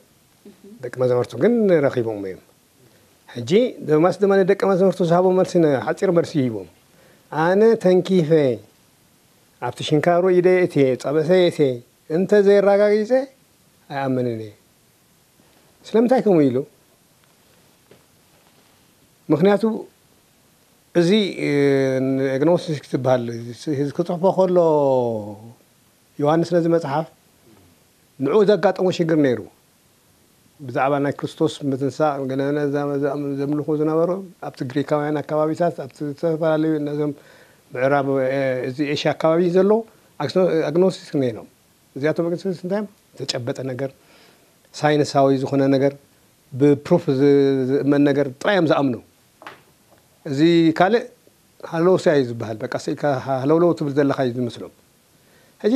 ደቂ መዛሙርቱ ግን ረኺቦምዎ እዮም። ሕጂ ቶማስ ድማ ንደቂ መዛሙርቱ ዝሃቦም መልሲ ሓጺር መልሲ ሂቦም። ኣነ ተንኪፈ ኣብቲ ሽንካሩ ኢደይ እትየ ጸበሰ እትየ እንተ ዘየራጋጊጸ ኣይኣምንን እየ። ስለምንታይ ከምኡ ኢሉ? ምክንያቱ እዚ ኣግኖስቲክ ትበሃል ክፅሕፎ ከሎ ዮሃንስ ነዚ መፅሓፍ ንዕኡ ዘጋጠሞ ሽግር ነይሩ። ብዛዕባ ናይ ክርስቶስ ምትንሳእ ገለመለ ዘምልኹ ዝነበሩ ኣብቲ ግሪካውያን ኣካባቢታት ኣብቲ ዝተፈላለዩ ነዞም ምዕራብ እዚ ኤሽያ ኣካባቢ ዘለዉ ኣግኖስቲክ ነይሮም። እዚኣቶም ኣግኖስቲክ እንታይ እዮም? ዝተጨበጠ ነገር ሳይንሳዊ ዝኾነ ነገር ብፕሩፍ ዝእመን ነገር ጥራይ እዮም ዝኣምኑ። እዚ ካልእ ሃለውሳ እዩ ዝበሃል። በቃ ስኢልካ ሃለውለው ትብል ዘለኻ እዩ ዝመስሎም። ሕጂ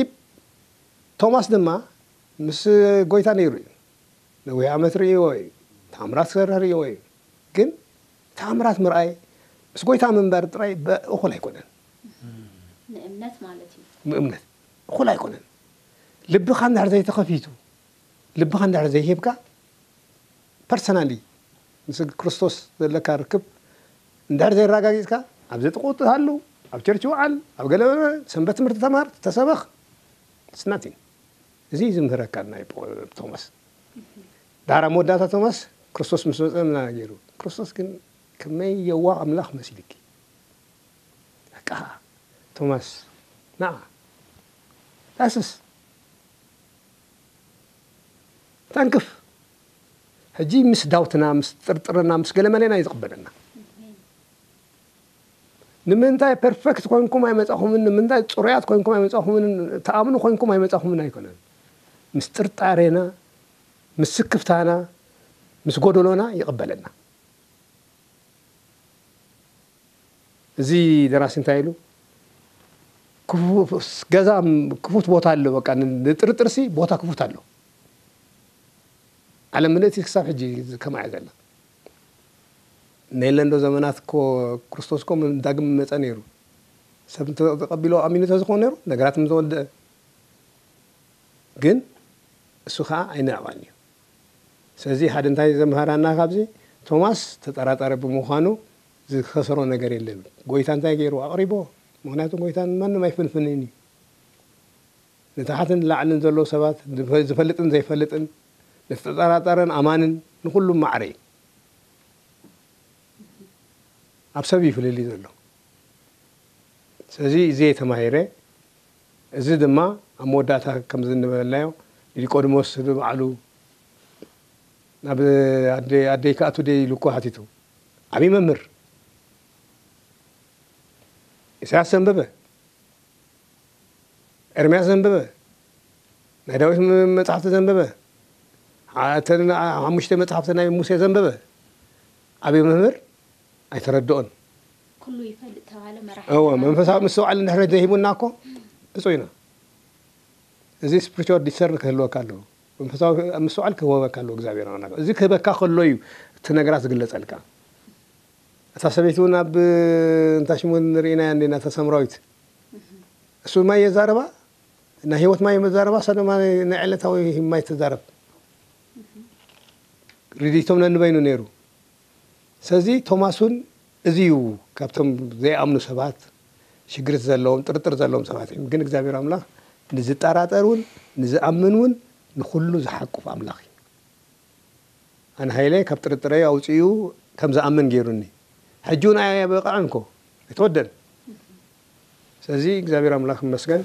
ቶማስ ድማ ምስ ጎይታ ነይሩ እዩ። ነዊሕ ዓመት ርእይዎ እዩ። ታምራት ክሰርሕ ርእይዎ እዩ። ግን ተኣምራት ምርኣይ ምስ ጎይታ ምንባር ጥራይ እኹል ኣይኮነን። ንእምነት ማለት እዩ። ንእምነት እኹል ኣይኮነን። ልብኻ እንድሕር ዘይተኸፊቱ፣ ልብኻ እንድሕር ዘይሂብካ፣ ፐርሰናሊ ምስ ክርስቶስ ዘለካ ርክብ እንድሕር ዘየረጋጊፅካ፣ ኣብ ዘጥቁ ትሃሉ፣ ኣብ ቸርች ውዓል፣ ኣብ ገለ ሰንበት ትምህርቲ ተማር፣ ተሰበኽ፣ ስናቲን። እዚ እዩ ዝምህረካ ናይ ፖ- ቶማስ። ዳሕራ መወዳእታ ቶማስ ክርስቶስ ምስ መፀ ምና ገይሩ። ክርስቶስ ግን ከመይ የዋህ ኣምላኽ መሲልኪ። በቃ ቶማስ፣ ና ዳስስ፣ ተንክፍ። ሕጂ ምስ ዳውትና፣ ምስ ጥርጥርና፣ ምስ ገለመሌና እዩ ዝቕበለና። ንምንታይ ፐርፌክት ኮይንኩም ኣይመጻኹምን? ንምንታይ ጽሩያት ኮይንኩም ኣይመጻኹምን? ተኣምኑ ኮይንኩም ኣይመጻኹምን ኣይኮነን። ምስ ጥርጣሬና፣ ምስ ስክፍታና፣ ምስ ጎደሎና ይቕበለና። እዚ ደራሲ እንታይ ኢሉ? ክፉ- ገዛ ክፉት ቦታ ኣሎ። በቃ ን- ንጥርጥርሲ ቦታ ክፉት ኣሎ። ዓለም ምልእቲ ክሳብ ሕጂ ከምኣ እያ ዘላ። ነየለ እንዶ ዘመናት እኮ ክርስቶስ እኮ ዳግም መጸ ነይሩ። ሰብ እንተ ተቐቢሎ ኣሚኑ ተዝኾን ነይሩ ነገራት ምዝወደአ። ግን እሱ ከዓ ኣይነዕቐን እዩ። ስለዚ ሓደ እንታይ ዘምሃራና ካብዚ፣ ቶማስ ተጠራጣሪ ብምዃኑ ዝኸሰሮ ነገር የለን። ጎይታ እንታይ ገይሩ ኣቕሪቦ። ምክንያቱ ጎይታ ንማንም ኣይፍንፍንን እዩ። ንታሕትን ንላዕልን ዘለዉ ሰባት፣ ዝፈ- ዝፈልጥን ዘይፈልጥን፣ ንዝተጠራጠረን ኣማንን ንኹሉም ማዕረ እዩ። ኣብ ሰብ እዩ ፍልልይ ዘሎ። ስለዚ እዚ እየ ተማሂረ። እዚ ድማ ኣብ መወዳእታ ከምዚ እንበልናዮ ኒቆዲሞስ ባዕሉ ናብ ኣደ- ኣደይ ክኣቱ ደይ ኢሉ እኮ ሓቲቱ። ዓብዪ መምህር ኢሳያስ ዘንበበ፣ ኤርምያስ ዘንበበ፣ ናይ ዳዊት ም- መጽሓፍቲ ዘንበበ፣ ዓ- እተን ሓሙሽተ መጽሓፍቲ ናይ ሙሴ ዘንበበ ዓብዪ መምህር ኣይተረድኦን። ኩሉ ይፈልጥ ተባለ መራሕ እወ መንፈሳዊ ምስትውዓል እንድሕር ዘይሂቡና እኮ ብፁዕ ኢና። እዚ ስፕሪቹዋል ዲሰርን ክህልወካ ኣለዎ። መንፈሳዊ ምስትውዓል ክህበካ ኣለዎ እግዚኣብሔር ኣምላኽ። እዚ ክህበካ ከሎ እዩ እቲ ነገራት ዝግለጸልካ። እታ ሰበይቲ እውን ኣብ እንታይ ሽሙ ንርኢናያ እንዲና እታ ሳምራዊት። እሱ ማይ የዛረባ፣ ናይ ህይወት ማይ መዛረባ፣ እሳ ድማ ናይ ዕለታዊ ማይ ትዛረብ። ርድኢቶም ነንበይኑ ነይሩ። ስለዚ ቶማስ እውን እዚ እዩ ካብቶም ዘይኣምኑ ሰባት፣ ሽግርት ዘለዎም ጥርጥር ዘለዎም ሰባት እዮም። ግን እግዚኣብሔር ኣምላኽ ንዝጠራጠር እውን ንዝኣምን እውን ንኹሉ ዝሓቁፍ ኣምላኽ እዩ። ኣነ ሃይለ ካብ ጥርጥረይ ኣውፅኡ ከም ዝኣምን ገይሩኒ። ሕጂ እውን ኣየበቕዐን እኮ ኣይተወደን። ስለዚ እግዚኣብሔር ኣምላኽ ይመስገን።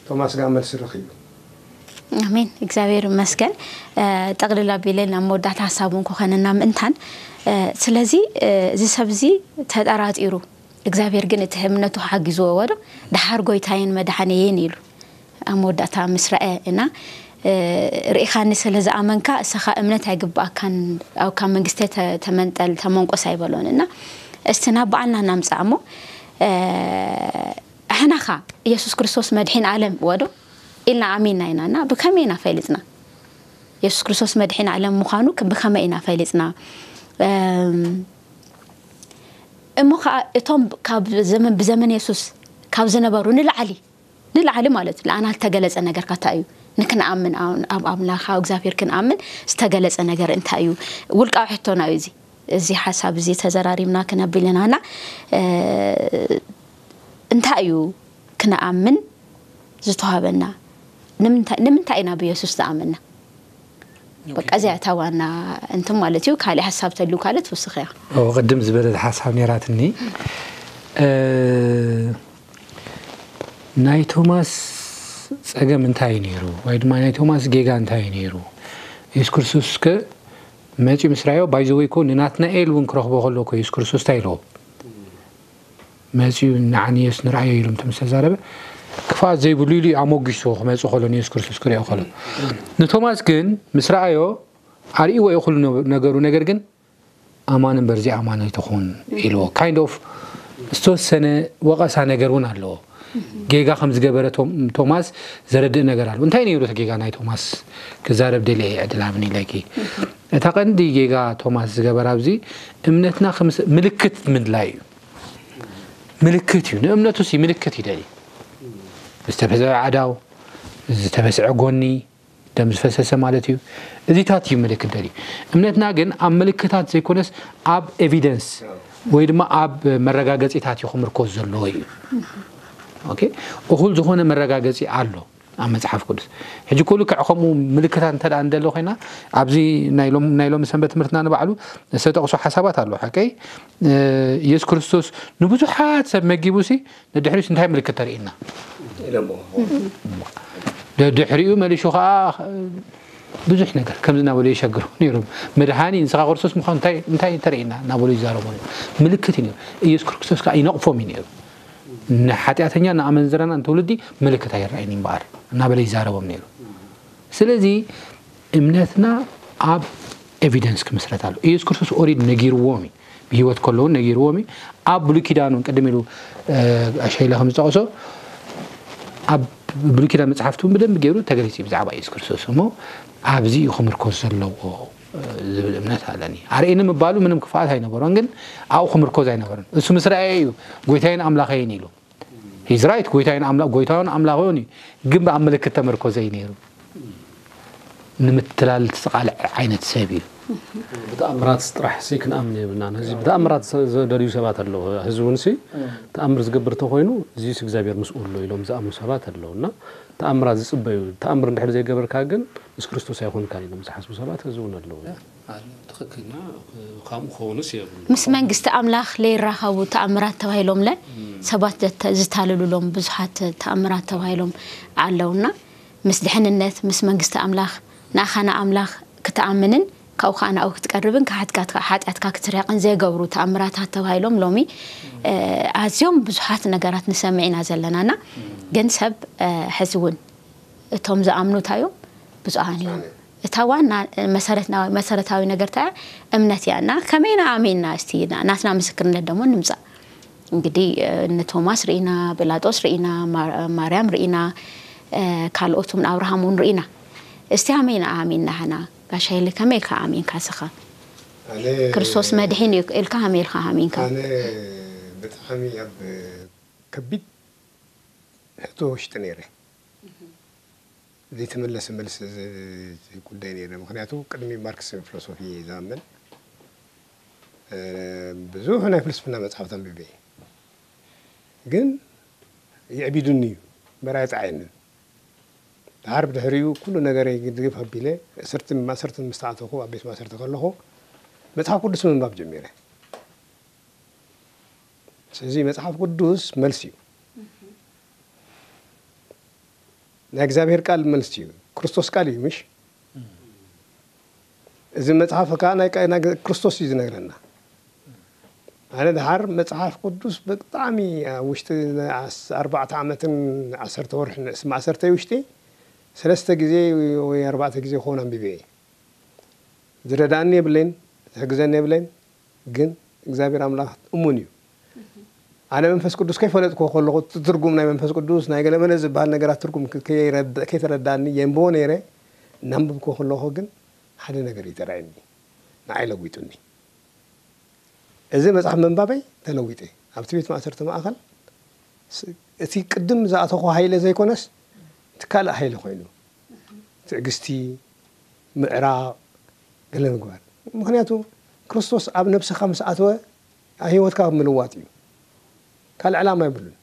ቶማስ ጋር መልሲ ረኺቡ። ኣሜን። እግዚኣብሔር ይመስገን። ጠቕልል ኣቢለ ናብ መወዳእታ ሓሳቡ እንኮኸነና ምእንታን። ስለዚ እዚ ሰብ እዚ ተጠራጢሩ፣ እግዚኣብሔር ግን እቲ እምነቱ ሓጊዝዎ ወዶ፣ ደሓር ጎይታየን መድሓነየን ኢሉ ኣብ መወዳእታ ምስ ረኣየ እና ርኢኻኒ ስለ ዝኣመንካ እሰኻ እምነት ኣይግባኣካን፣ ኣብካ መንግስተ ተመንጠል ተመንቆስ ኣይበሎን እና እስቲ ናብ በዓልና እናምፃእ እሞ ኣሕናኻ ኢየሱስ ክርስቶስ መድሒን ዓለም ወዶ ኢልና ኣሚንና ኢና እና ብከመይ ኢና ፈሊፅና? የሱስ ክርስቶስ መድሒን ዓለም ምዃኑ ብኸመይ ኢና ፈሊፅና? እሞ ከዓ እቶም ካብ ዘመን ብዘመን የሱስ ካብ ዝነበሩ ንላዕሊ ንላዕሊ ማለት እዩ ለኣና ዝተገለፀ ነገር ካታ እዩ ንክንኣምን ኣብ ኣምላኽ ኣብ እግዚኣብሔር ክንኣምን ዝተገለፀ ነገር እንታይ እዩ? ውልቃዊ ሕቶና እዩ እዚ። እዚ ሓሳብ እዚ ተዘራሪብና ክነብል ኢና እና እንታይ እዩ ክንኣምን ዝተዋህበና? ንምንታይ ኢና ብየሱስ ዝኣመና? በቃ እዚኣ እታ ዋና እንትን ማለት እዩ። ካሊእ ሓሳብ ተልዩ ካልእ ትውስኽ እያ። ቅድም ዝበለት ሓሳብ ነይራትኒ። ናይ ቶማስ ፀገም እንታይ እዩ ነይሩ? ወይ ድማ ናይ ቶማስ ጌጋ እንታይ እዩ ነይሩ? የሱስ ክርስቶስ ከ መፂኡ ምስ ረኣዮ፣ ባይዘወይ እኮ ንናትናኤል እውን ክረኽቦ ከሎ እኮ የሱስ ክርስቶስ እንታይ ኢልዎ? መፂኡ ንዓኒ የሱስ ንርኣዮ ኢሉ ምስ ተዛረበ፣ ክፍኣት ዘይብሉ ኢሉ እዩ ኣሞጊስዎ ክመፅእ ከሎ ንየሱስ ክርስቶስ ክሪኦ ከሎ። ንቶማስ ግን ምስ ረኣዮ ኣርእይዎ እዩ ኩሉ ነገሩ፣ ነገር ግን ኣማን እምበር ዘይኣማን ኣይትኹን ኢልዎ። ካይንድ ኦፍ ዝተወሰነ ወቐሳ ነገር እውን ኣለዎ። ጌጋ ከም ዝገበረ ቶም- ቶማስ ዘረድእ ነገር ኣሎ። እንታይ ነይሩ እቲ ጌጋ ናይ ቶማስ? ክዛረብ ደልየ ዕድል ሃብኒ ኢለኪ። እታ ቀንዲ ጌጋ ቶማስ ዝገበረ ኣብዚ እምነትና ከም ምልክት ምድላይ እዩ። ምልክት እዩ። ንእምነቱ ሲ ምልክት ይደሊ። ዝተበዝዐ ኣእዳው፣ ዝተበስዐ ጎኒ፣ ደም ዝፈሰሰ ማለት እዩ። እዚታት እዩ ምልክት ደልዩ። እምነትና ግን ኣብ ምልክታት ዘይኮነስ ኣብ ኤቪደንስ ወይ ድማ ኣብ መረጋገፂታት እዩ ክምርኮዝ ዘለዎ እዩ። ኦኬ፣ እኹል ዝኾነ መረጋገፂ ኣሎ ኣብ መፅሓፍ ቅዱስ። ሕጂ እኮ ልክዕ ከምኡ ምልክታት እንተ ደኣ እንደሎ ኮይና ኣብዚ ናይ ሎም- ናይ ሎሚ ሰንበት ትምህርትና ንባዕሉ ዝተጠቕሱ ሓሳባት ኣሎ። ሓቀይ ኢየሱስ ክርስቶስ ንብዙሓት ሰብ መጊቡሲ ንድሕሪስ እንታይ ምልክት ተርእየና? ኢሎሞ ድሕሪኡ መሊሹ ከዓ ብዙሕ ነገር ከምዚ እናበሉ የሸግሩ ነይሮም። መድሃኒ ንስኻ ክርስቶስ ምዃኑ እንታይ እንታይ ተርእየና እናበሉ ይዛረቡ ነይሮም። ምልክት እዩ ነይሩ። ኢየሱስ ክርስቶስ ከዓ ይነቕፎም እዩ ነይሩ። ንሓጢኣተኛ ንኣመንዝራና ንትውልዲ ምልክት ኣይረኣይን እምበኣር እናበለ ይዛረቦም ነይሩ። ስለዚ እምነትና ኣብ ኤቪደንስ ክምስረት ኣሎ። ኢየሱስ ክርስቶስ ኦሪድ ነጊርዎም እዩ። ብህይወት ከለውን ነጊርዎም እዩ። ኣብ ብሉይ ኪዳን እውን ቅድም ኢሉ ኣሸይለ ከም ዝጠቕሶ ኣብ ብሉይ ኪዳን መፅሓፍቲ እውን ብደንብ ገይሩ ተገሊፁ እዩ ብዛዕባ ኢየሱስ ክርስቶስ። እሞ ኣብዚ እዩ ክምርኮዝ ዘለዎ ዝብል እምነት ኣለኒ። ኣርእኒ ምባሉ ምንም ክፍኣት ኣይነበሮን፣ ግን ኣብኡ ክምርኮዝ ኣይነበረን። እሱ ምስ ረኣየ እዩ ጎይታይን ኣምላኸይን ኢሉ። ሂዝ ራይት፣ ጎይታይን ኣምላ ጎይታውን ኣምላኸውን እዩ፣ ግን ብኣብ ምልክት ተመርኮዘ እዩ ነይሩ። ንምትላል ዝተቓልዐ ዓይነት ሰብ እዩ። ብተኣምራት ጥራሕ ሲ ክንኣምን የብልናን። ህዚ ብተኣምራት ዘደልዩ ሰባት ኣለዉ። ህዚ እውን ሲ ተኣምር ዝገብር ተኮይኑ እዚስ እግዚኣብሔር ምስኡ ኣሎ ኢሎም ዝኣምኑ ሰባት ኣለዉ እና ተኣምራት ዝፅበዩ። ተኣምር እንድሕር ዘይገበርካ ግን ምስ ክርስቶስ ኣይኮንካን ኢሎም ዝሓስቡ ሰባት ህዚ እውን ኣለዉ። ትክክልና ከምኡ ከውንስ የብሉ ምስ መንግስቲ ኣምላኽ ለይራኸቡ ተኣምራት ተባሂሎምለ ሰባት ዘተ- ዝታለሉሎም ብዙሓት ተኣምራት ተባሂሎም ኣለውና ምስ ድሕንነት ምስ መንግስቲ ኣምላኽ ንኣኻ ንኣምላኽ ክትኣምንን ካብኡ ከዓ ናብኡ ክትቀርብን ካሕትካ ሓጢኣትካ ክትርሕቅን ዘይገብሩ ተኣምራታት ተባሂሎም ሎሚ ኣዝዮም ብዙሓት ነገራት ንሰምዕ ኢና ዘለናና ግን ሰብ ሕዚ እውን እቶም ዝኣምኑ እንታይ እዮም ብፁዓን እዮም እታ ዋና መሰረታዊ ነገር ታ እምነት እያ እና ከመይና ኣሜንና እስቲ ናትና ምስክርነት ደግሞ ንምፃእ እንግዲህ እነ ቶማስ ርኢና ጲላጦስ ርኢና ማርያም ርኢና ካልኦት እውን ኣብርሃም እውን ርኢና እስቲ ኣሜና ኣሜንና ህና ጋሻ ይሊ ከመይ ኢልካ ኣሜንካ ስኻ ክርስቶስ መድሒን እዩ ኢልካ ከመይ ኢልካ ኣሜንካ ኣነ ብጣዕሚ ኣብ ከቢድ ሕቶ ውሽጢ ነይረ ዘይተመለሰ መልሲ ጉዳይ ነይረ። ምክንያቱ ቅድሚ ማርክስ ፊሎሶፊ ዝኣምን ብዙሕ ናይ ፍልስፍና መፅሓፍቲ ኣንቢበ ግን የዕቢዱኒ እዩ፣ መራ የፀዓየንን። ድሓር ብድሕሪኡ ኩሉ ነገረይ ግድግፍ ኣቢለ እስርቲ ማእሰርቲ ምስ ተኣተኹ ኣብ ቤት ማእሰርቲ ከለኹ መፅሓፍ ቅዱስ ምንባብ ጀሚረ። ስለዚ መፅሓፍ ቅዱስ መልሲ እዩ። ናይ እግዚኣብሔር ቃል መልሲ እዩ። ክርስቶስ ቃል እዩ ምሽ? እዚ መፅሓፍ ከዓ ናይ ክርስቶስ እዩ ዝነግረና። ኣነ ድሓር መፅሓፍ ቅዱስ ብጣዕሚ ኣብ ውሽጢ ኣርባዕተ ዓመትን ዓሰርተ ወርሒ ማእሰርተይ ውሽጢ ሰለስተ ግዜ ወይ ኣርባዕተ ግዜ ክኸውን ኣንቢበ እየ። ዝረዳእኒ የብለይን፣ ዝሕግዘኒ የብለይን። ግን እግዚኣብሔር ኣምላኽ እሙን እዩ። ኣነ መንፈስ ቅዱስ ከይፈለጥኩ ከለኹ እቲ ትርጉም ናይ መንፈስ ቅዱስ ናይ ገለመለ ዝበሃል ነገራት ትርጉም ከይተረዳእኒ የንብቦ ነይረ። እናንብብኩ ከለኹ ግን ሓደ ነገር እዩ ተራእየኒ፣ ንዓይ ለዊጡኒ። እዚ መፅሓፍ ምንባበይ ተለዊጠ። ኣብቲ ቤት ማእሰርቲ ማእኸል እቲ ቅድም ዝኣተኹ ሃይለ ዘይኮነስ እቲ ካልእ ሃይለ ኮይኑ ትዕግስቲ፣ ምዕራቕ፣ ገለ ምግባር። ምክንያቱ ክርስቶስ ኣብ ነብስኻ ምስ ኣተወ ህይወትካ ምልዋጥ እዩ። ካልእ ዕላማ የብሉን።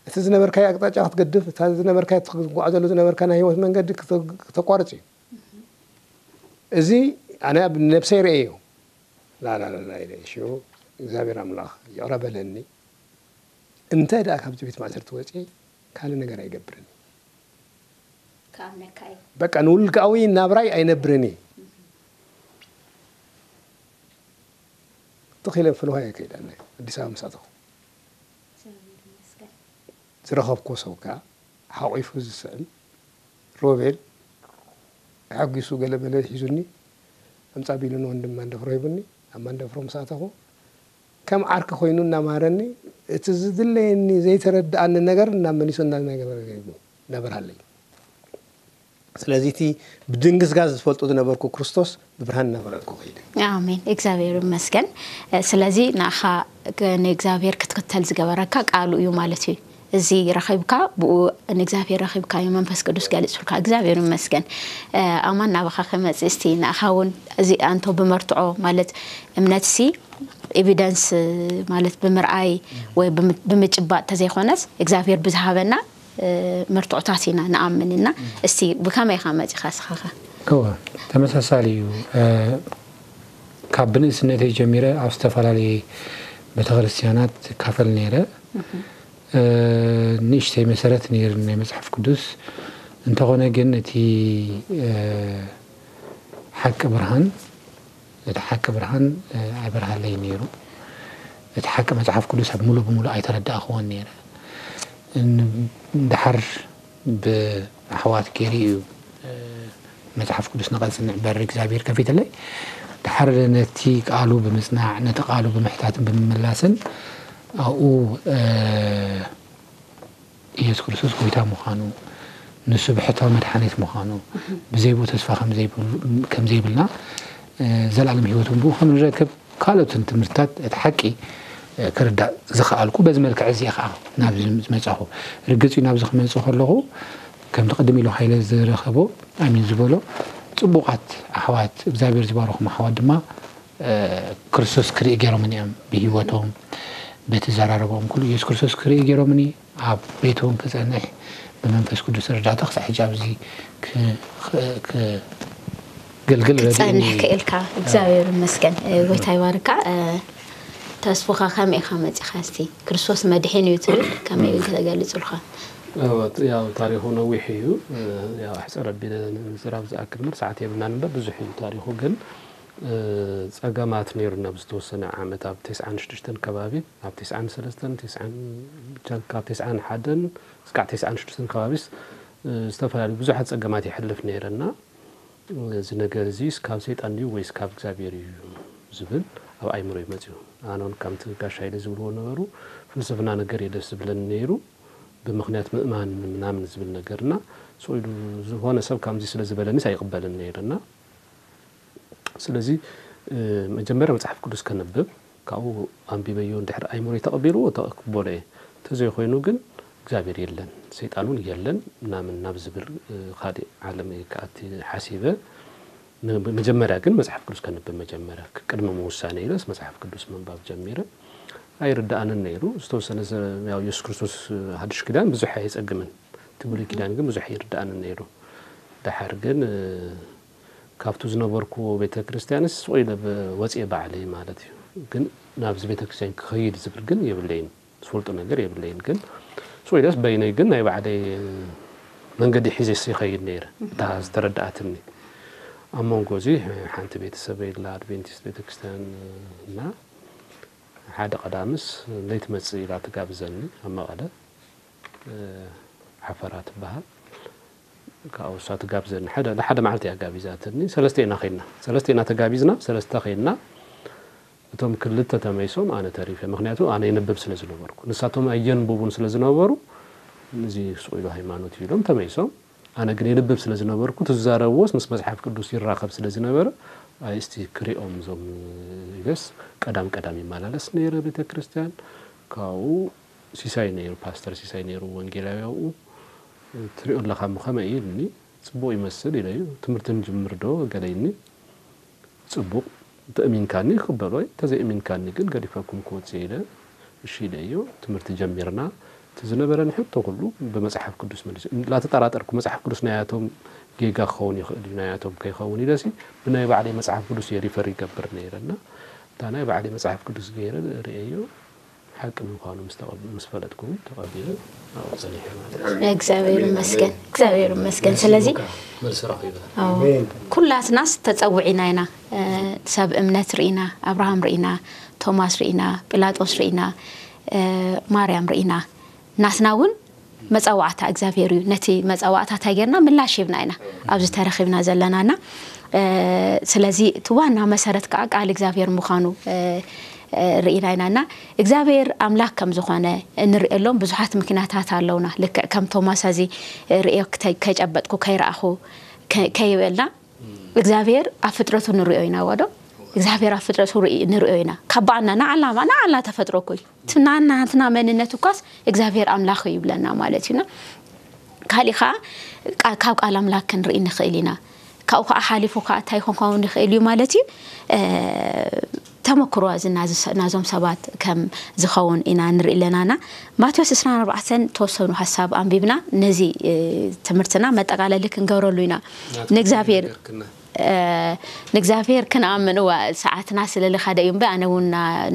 እቲ ዝነበርካዮ ኣቅጣጫ ክትገድፍ፣ እታ ዝነበርካዮ ትጓዓዘሉ ዝነበርካ ናይ ህይወት መንገዲ ክተቋርፅ እዩ። እዚ ኣነ ኣብ ነብሰይ ርእየዮ። ላላላላ ኢለ ሽዑ እግዚኣብሔር ኣምላኽ ይቕረ በለኒ። እንተ ደኣ ካብዚ ቤት ማእሰርቲ ወፅየ ካልእ ነገር ኣይገብርን። ክኣምነካ እዩ በቃ ንውልቃዊ ናብራይ ኣይነብርን እየ። ትኽ ኢለ ፍልውሃ እየ ከይደ ኣዲስ ኣበባ ምስ ኣተኹ። ዝረኸብኩዎ ሰብ ከዓ ሓቒፉ ዝስዕም ሮቤል ተሓጒሱ ገለ መለ ሒዙኒ ኣምፃ ቢሉኒ ወንድም ማንደፍሮ ሂቡኒ። ኣብ ማንደፍሮ ምስ ኣተኹ ከም ዓርኪ ኮይኑ እናምሃረኒ እቲ ዝድለየኒ ዘይተረድኣኒ ነገር እናመሊሶ እናነገረ እናበርሃለይ። ስለዚ እቲ ብድንግዝጋዝ ዝፈልጦ ዝነበርኩ ክርስቶስ ብብርሃን እናበረልኩ ከይደ። ኣሜን። እግዚኣብሔር ይመስገን። ስለዚ ንኣኻ ንእግዚኣብሔር ክትክተል ዝገበረካ ቃሉ እዩ ማለት እዩ። እዚ ረኺብካ ብኡ ንእግዚኣብሔር ረኺብካዮ፣ መንፈስ ቅዱስ ገሊጹልካ፣ እግዚኣብሔር ይመስገን። ኣማን ናባኻ ክመጽእ እስቲ ንኣኻ እውን እዚ ኣንቶ ብመርትዖ ማለት እምነትሲ ኤቪደንስ ማለት ብምርኣይ ወይ ብምጭባጥ ተዘይኮነስ እግዚኣብሔር ብዝሃበና መርትዖታት ኢና ንኣምን እና እስቲ ብከመይ ኢኻ መጺኻ ስኻኸ? እወ፣ ተመሳሳሊ እዩ። ካብ ብንእስነተይ ጀሚረ ኣብ ዝተፈላለየ ቤተክርስትያናት እካፈል ነይረ። ንእሽተይ መሰረት ነይሩ ናይ መፅሓፍ ቅዱስ። እንተኾነ ግን እቲ ሓቂ ብርሃን እቲ ሓቂ ብርሃን ኣይበርሃለይ ነይሩ። እቲ ሓቂ መፅሓፍ ቅዱስ ኣብ ሙሉእ ብሙሉእ ኣይተረዳእኽዎን ነይረ። ድሓር ብኣሕዋት ገይሩ እዩ መፅሓፍ ቅዱስ ንቐፅንዕ በር እግዚኣብሔር ከፊትለይ። ድሓር ነቲ ቃሉ ብምፅናዕ ነቲ ቃሉ ብምሕታትን ብምምላስን ኣብኡ ኢየሱስ ክርስቶስ ጎይታ ምዃኑ ንሱ ብሕታዊ መድሓኒት ምዃኑ ብዘይ ብኡ ተስፋ ከም ዘይብልና ዘላለም ህይወት እውን ብኡ ከም ንረክብ ካልኦትን ትምህርትታት እቲ ሓቂ ክርዳእ ዝኸኣልኩ በዚ መልክዕ እዚ ከዓ ናብዚ ዝመፃኹ። ርግፅ እዩ ናብዚ ክመፅእ ከለኹ ከምቲ ቅድም ኢሉ ሃይለ ዝረኸቦ ኣሚን ዝበሎ ፅቡቓት ኣሕዋት እግዚኣብሔር ዝባረኹም ኣሕዋት ድማ ክርስቶስ ክርኢ ገይሮምን እዮም ብህይወቶም በቲ ዘራረቦም ኩሉ ኢየሱስ ክርስቶስ ክርኢ ገይሮምኒ ኣብ ቤት እውን ክፀንሕ ብመንፈስ ቅዱስ እርዳታ ክሳብ ሕጂ ኣብዚ ክገልግል ረድእኒ። ክፀንሕ ክእልካ እግዚኣብሔር ይመስገን። ጎይታ ይባርካ። ተስፉኻ ከመይ ኢኻ መፂኻ? እስቲ ክርስቶስ መድሕን እዩ ትብል ከመይ ኢልካ ተገልፅልካ? ያው ታሪኹ ነዊሕ እዩ። ያው ኣሕፅር ኣቢለ ንምዝራብ ዝኣክል ምር ሰዓት የብልናን እምበር ብዙሕ እዩ ታሪኹ። ግን ፀገማት ነይሩና ብዝተወሰነ ዓመት ኣብ ተስዓን ሽዱሽተን ከባቢ ኣብ ተስዓን ሰለስተን ተስዓን ብቻ ካብ ተስዓን ሓደን እስካዕ ተስዓን ሽዱሽተን ከባቢስ ዝተፈላለዩ ብዙሓት ፀገማት ይሕልፍ ነይረና። እዚ ነገር እዚ ካብ ሰይጣን ድዩ ወይስ ካብ እግዚኣብሔር እዩ ዝብል ኣብ ኣይምሮ ይመፅዩ። ኣነውን ከምቲ ጋሻ ኢለ ዝብልዎ ነበሩ ፍልስፍና ነገር እየ ደስ ዝብለኒ ነይሩ። ብምክንያት ምእማን ምናምን ዝብል ነገርና ስቕ ኢሉ ዝኾነ ሰብ ከምዚ ስለ ዝበለኒስ ኣይቕበልን ነይረና። ስለዚ መጀመርያ መፅሓፍ ቅዱስ ከንብብ ካብኡ ኣንቢበዮ እንድሕር ኣይምሮይ ተቐቢልዎ ተቕበሎ እየ። እንተዘይኮይኑ ግን እግዚኣብሔር የለን ሰይጣን እውን የለን ምናምን ናብ ዝብል ካልእ ዓለም እየ ክኣቲ ሓሲበ። መጀመርያ ግን መፅሓፍ ቅዱስ ከንብብ መጀመርያ ቅድሚ ምውሳነ ኢለስ መፅሓፍ ቅዱስ ምንባብ ጀሚረ። ኣይርድኣንን ነይሩ ዝተወሰነ ኢየሱስ ክርስቶስ ሓድሽ ኪዳን ብዙሕ ኣየፀግምን እቲ ብሉይ ኪዳን ግን ብዙሕ ኣይርድኣንን ነይሩ። ደሓር ግን ካብቱ ዝነበርኩዎ ቤተ ክርስቲያንስ ስቕ ኢለ ወፅየ ባዕለይ ማለት እዩ። ግን ናብዚ ቤተ ክርስቲያን ክኸይድ ዝብል ግን የብለይን ዝፈልጦ ነገር የብለይን። ግን ስቕ ኢለስ በይነይ ግን ናይ ባዕለይ መንገዲ ሒዘ ይኸይድ ነይረ። እታ ዝተረድኣትኒ ኣብ መንጎ እዚ ሓንቲ ቤተሰበይ ኢላ ኣድቬንቲስት ቤተ ክርስቲያን እና ሓደ ቀዳምስ ለይትመፅእ ኢላ ትጋብዘኒ ኣብ መቐለ ዓፈራ ትበሃል። ካብኡ እሳ ትጋብዘኒ ሓደ ንሓደ መዓልቲ እያ ጋቢዛትኒ። ሰለስተ ኢና ኸይድና ሰለስተ ኢና ተጋቢዝና ሰለስተ ኸይድና። እቶም ክልተ ተመይሶም ኣነ ተሪፈ። ምኽንያቱ ኣነ የንብብ ስለ ዝነበርኩ ንሳቶም ኣየንብቡን ስለ ዝነበሩ እዚ ስቕ ኢሉ ሃይማኖት እዩ ኢሎም ተመይሶም። ኣነ ግን የንብብ ስለ ዝነበርኩ ትዛረብዎስ ምስ መፅሓፍ ቅዱስ ይራኸብ ስለ ዝነበረ ኣይ እስቲ ክሪኦም እዞም ኢለስ ቀዳም ቀዳም ይመላለስ ነይረ ቤተ ክርስቲያን። ካብኡ ሲሳይ ነይሩ ፓስተር ሲሳይ ነይሩ ወንጌላዊ ኣብኡ ትሪኦ ኣለኻ እሞ ከመይ እዩ ኢሉኒ። ፅቡቕ ይመስል ኢለዩ። ትምህርቲ ንጅምር ዶ ገለ ኢልኒ። ፅቡቕ እንተእሚንካኒ ክቕበሎ እየ እንተዘይእሚንካኒ ግን ገዲፈኩም ክወፅእ ኢለ እሺ ኢለዮ። ትምህርቲ ጀሚርና። እቲ ዝነበረኒ ሕቶ ኩሉ ብመፅሓፍ ቅዱስ መሊሱ እናተጠራጠርኩ መፅሓፍ ቅዱስ ናያቶም ጌጋ ክኸውን ይኽእል እዩ ናያቶም ከይኸውን ኢለሲ ብናይ ባዕለይ መፅሓፍ ቅዱስ እየ ሪፈር ይገብር ነይረ እና እታ ናይ ባዕለይ መፅሓፍ ቅዱስ ገይረ ርእየዮ ሓቂ ምዃኑ ምስ ተቐብ- ምስ ፈለጥኩ እውን ተቐቢለ ኣብኡ ጸኒሐ ማለት እዩ። እግዚኣብሔር ይመስገን እግዚኣብሔር ይመስገን ስለዚ መልሲ ረኺበ ኣዎ፣ ኩላትናስ ተጸውዒና ኢና ሰብ እምነት ርኢና ኣብርሃም ርኢና ቶማስ ርኢና ጲላጦስ ርኢና ማርያም ርኢና ናትና እውን መጸዋዕታ እግዚኣብሔር እዩ ነቲ መጸዋዕታ እንታይ ጌርና ምላሽ ሂብና ኢና ኣብዚ ተረኺብና ዘለናና ስለዚ እቲ ዋና መሰረት ከዓ ቃል እግዚኣብሔር ምዃኑ ርኢና ኢና። እና እግዚኣብሔር ኣምላኽ ከም ዝኾነ እንርእየሎም ብዙሓት ምክንያታት ኣለውና። ልክዕ ከም ቶማስ እዚ ርእዮ ከይጨበጥኩ ከይረኣኹ ከይበልና እግዚኣብሔር ኣብ ፍጥረቱ ንርእዮ ኢና። ወዶ እግዚኣብሔር ኣብ ፍጥረቱ ንርእዮ ኢና። ካብ ባዕልና ንዓልና ንዓልና ተፈጥሮ እኮ እዩ። ናትና መንነት እኳስ እግዚኣብሔር ኣምላኽ እዩ ይብለና ማለት እዩና። ካሊእ ከዓ ካብ ቃል ኣምላኽ ክንርኢ ንኽእል ኢና። ካብኡ ከዓ ሓሊፉ ከዓ እንታይ ክኸውን ይኽእል እዩ ማለት እዩ። ተመክሮ ናዞም ሰባት ከም ዝኸውን ኢና ንርኢ ኣለናና። ማቴዎስ ዕስራን ኣርባዕተን ተወሰኑ ሓሳብ ኣንቢብና ነዚ ትምህርትና መጠቃለሊ ክንገብረሉ ኢና። ንእግዚኣብሔር ንእግዚኣብሔር ክንኣምን እዋ ሰዓትና ስለ ልኻደ እዩ እምበር ኣነ እውን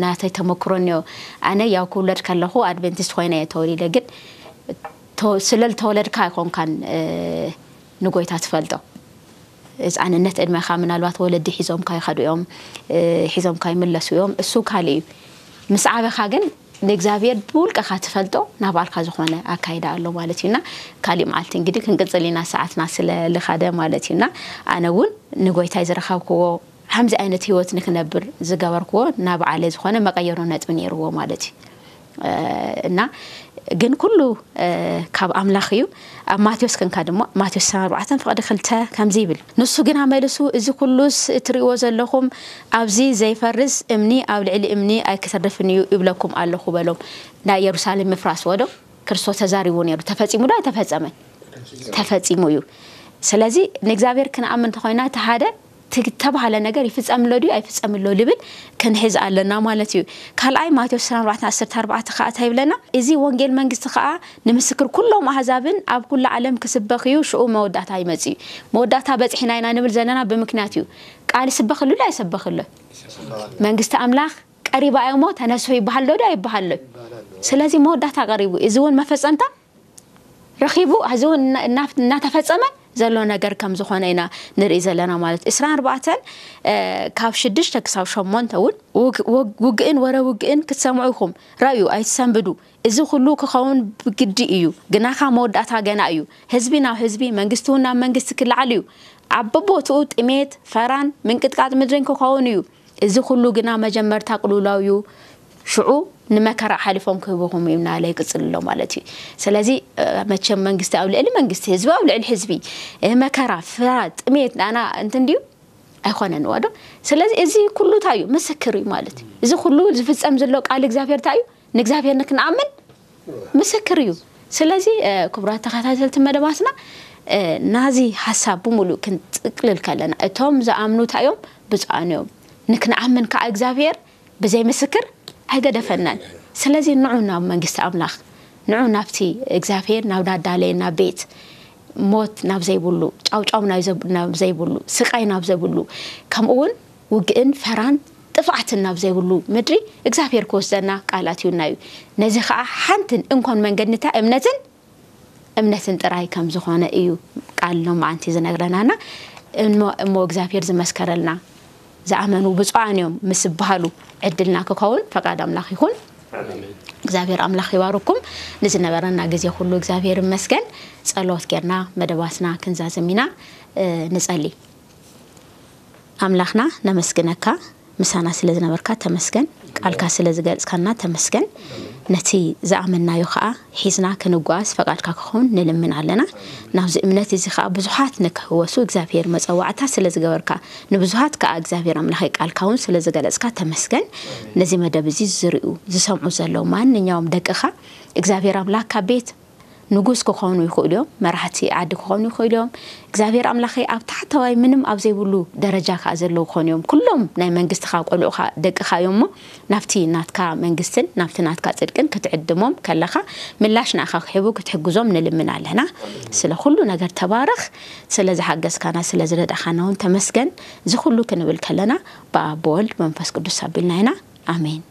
ናተይ ተመክሮ እኒኦ። ኣነ ያው ክውለድ ከለኹ ኣድቨንቲስት ኮይነ እየ ተወሊደ። ግን ስለ ልተወለድካ ኣይኮንካን ንጎይታ ትፈልጦ። ህፃንነት ዕድመኻ ምናልባት ወለዲ ሒዞምካ ይኸዱ እዮም፣ ሒዞምካ ይምለሱ እዮም። እሱ ካልእ እዩ። ምስ ዓበኻ ግን ንእግዚኣብሔር ብውልቅኻ ትፈልጦ ናባልካ ዝኾነ ኣካይዳ ኣሎ ማለት እዩና። ካሊእ መዓልቲ እንግዲህ ክንቅፅል ኢና ሰዓትና ስለ ልኻደ ማለት እዩና። ኣነ እውን ንጎይታይ ዝረኸብክዎ ከምዚ ዓይነት ህይወት ንክነብር ዝገበርክዎ ናባዕለይ ዝኾነ መቀየሮ ነጥቢ ነይርዎ ማለት እዩ። እና ግን ኩሉ ካብ ኣምላኽ እዩ። ኣብ ማቴዎስ ክንካ ድማ ማቴዎስ ዕስራን ኣርባዕተን ፍቕዲ ክልተ ከምዚ ይብል፣ ንሱ ግና መልሱ እዚ ኩሉስ እትርእይዎ ዘለኹም ኣብዚ ዘይፈርስ እምኒ ኣብ ልዕሊ እምኒ ኣይክተርፍን እዩ ይብለኩም ኣለኹ በሎም። ናይ ኢየሩሳሌም ምፍራስ ወዶ ክርስቶስ ተዛሪቡ ነይሩ። ተፈጺሙ ዶ ኣይተፈጸመን? ተፈጺሙ እዩ። ስለዚ ንእግዚኣብሔር ክንኣምን እንተኾይና እቲ ሓደ ተባሃለ ነገር ይፍጸምሎ ድዩ ኣይፍጸምሎ ልብል ክንሕዝ ኣለና ማለት እዩ። ካልኣይ ማቴዎስ ዕስራን ኣርባዕተን ዓሰርተ ኣርባዕተ ከዓ እንታይ ይብለና? እዚ ወንጌል መንግስቲ ከዓ ንምስክር ኩሎም ኣህዛብን ኣብ ኩሉ ዓለም ክስበኽ እዩ፣ ሽኡ መወዳእታ ይመጽእ እዩ። መወዳእታ በጽሒና ኢና ንብል ዘለና ብምክንያት እዩ። ቃል ይስበኽሉ ዶ ኣይሰበኽሎ? መንግስቲ ኣምላኽ ቀሪባ እያ እሞ ተነስሑ ይበሃል ዶ ዶ ኣይበሃሎ? ስለዚ መወዳእታ ቀሪቡ፣ እዚ እውን መፈጸምታ ረኺቡ፣ እዚ እውን እናተፈጸመ ዘሎ ነገር ከም ዝኾነ ኢና ንርኢ ዘለና ማለት። ዕስራን ኣርባዕተን ካብ ሽዱሽተ ክሳብ ሸሞንተ እውን ውግእን ወረ ውግእን ክትሰምዑ ኢኹም። ረእዩ ኣይትሰንብዱ። እዚ ኩሉ ክኸውን ብግዲ እዩ። ግናኻ መወዳእታ ገና እዩ። ህዝቢ ናብ ህዝቢ፣ መንግስቲ እውን ናብ መንግስቲ ክለዓል እዩ። ኣብ በቦትኡ ጥሜት፣ ፈራን ምንቅጥቃጥ ምድርን ክኸውን እዩ። እዚ ኩሉ ግና መጀመርታ ቅልውላው እዩ። ሽዑ ንመከራ ሓሊፎም ክህብኹም እዩ እናለ ይቅፅል ኣሎ ማለት እዩ። ስለዚ መቸም መንግስቲ ኣብ ልዕሊ መንግስቲ፣ ህዝቢ ኣብ ልዕሊ ህዝቢ፣ መከራ፣ ፍራ፣ ጥሜት፣ ናና እንትን ድዩ ኣይኮነን ዋዶ። ስለዚ እዚ ኩሉ እንታይ እዩ? ምስክር እዩ ማለት እዩ። እዚ ኩሉ ዝፍጸም ዘሎ ቃል እግዚኣብሔር እንታይ እዩ? ንእግዚኣብሔር ንክንኣምን ምስክር እዩ። ስለዚ ክቡራት ተኸታተልቲ መደባትና ናዚ ሓሳብ ብምሉእ ክንጥቅልል ከለና እቶም ዝኣምኑ እንታይ እዮም? ብፁዓን እዮም። ንክንኣምን ከዓ እግዚኣብሔር ብዘይ ምስክር ኣይገደፈናን። ስለዚ ንዑ ናብ መንግስቲ ኣምላኽ፣ ንዑ ናብቲ እግዚኣብሔር ናብ ዳዳለየና ቤት፣ ሞት ናብ ዘይብሉ፣ ጫውጫው ናብ ዘይብሉ፣ ስቃይ ናብ ዘይብሉ፣ ከምኡ እውን ውግእን ፈራን ጥፍኣትን ናብ ዘይብሉ ምድሪ እግዚኣብሔር ክወስደና ቃል ኣትዩና እዩ። ነዚ ከዓ ሓንትን እንኮን መንገድንታ እምነትን እምነትን ጥራይ ከም ዝኾነ እዩ ቃል ሎማዓንቲ ዝነግረናና። እሞ እግዚኣብሔር ዝመስከረልና ዝኣመኑ ብፁዓን እዮም ምስ ዝበሃሉ ዕድልና ክኸውን ፈቃድ ኣምላኽ ይኹን። እግዚኣብሔር ኣምላኽ ይባርኩም። ንዝነበረና ግዜ ኩሉ እግዚኣብሔር ይመስገን። ጸሎት ጌርና መደባትና ክንዛዝም ኢና። ንጸሊ። ኣምላኽና ነመስግነካ፣ ምሳና ስለ ዝነበርካ ተመስገን። ቃልካ ስለ ዝገልጽካና ተመስገን። ነቲ ዝኣመንናዮ ከኣ ሒዝና ክንጓዝ ፈቃድካ ክኸውን ንልምን ኣለና። ናብዚ እምነት እዚ ከኣ ብዙሓት ንክሕወሱ እግዚኣብሔር መጸዋዕታ ስለ ዝገበርካ፣ ንብዙሃት ከኣ እግዚኣብሔር ኣምላኸይ ቃልካ እውን ስለ ዝገለጽካ ተመስገን። ነዚ መደብ እዚ ዝርእዩ ዝሰምዑ ዘለዉ ማንኛውም ደቅኻ እግዚኣብሔር ኣምላክ ካብ ቤት ንጉስ ክኾኑ ይኽእሉ እዮም፣ መራሕቲ ዓዲ ክኾኑ ይኽእሉ እዮም። እግዚኣብሔር ኣምላኸይ ኣብ ታሕተዋይ ምንም ኣብ ዘይብሉ ደረጃ ከዓ ዘለዉ ክኾኑ እዮም። ኩሎም ናይ መንግስትኻ ቆልዑኻ ደቅኻ እዮም እሞ ናብቲ ናትካ መንግስትን ናብቲ ናትካ ጽድቅን ክትዕድሞም ከለኻ ምላሽ ንኣኻ ክሕቡ ክትሕግዞም ንልምን ኣለና። ስለ ኩሉ ነገር ተባረኽ። ስለ ዝሓገዝካና ስለ ዝረዳእካና እውን ተመስገን። እዚ ኩሉ ክንብል ከለና ብኣብ ብወልድ መንፈስ ቅዱስ ኣቢልና ኢና። ኣሜን።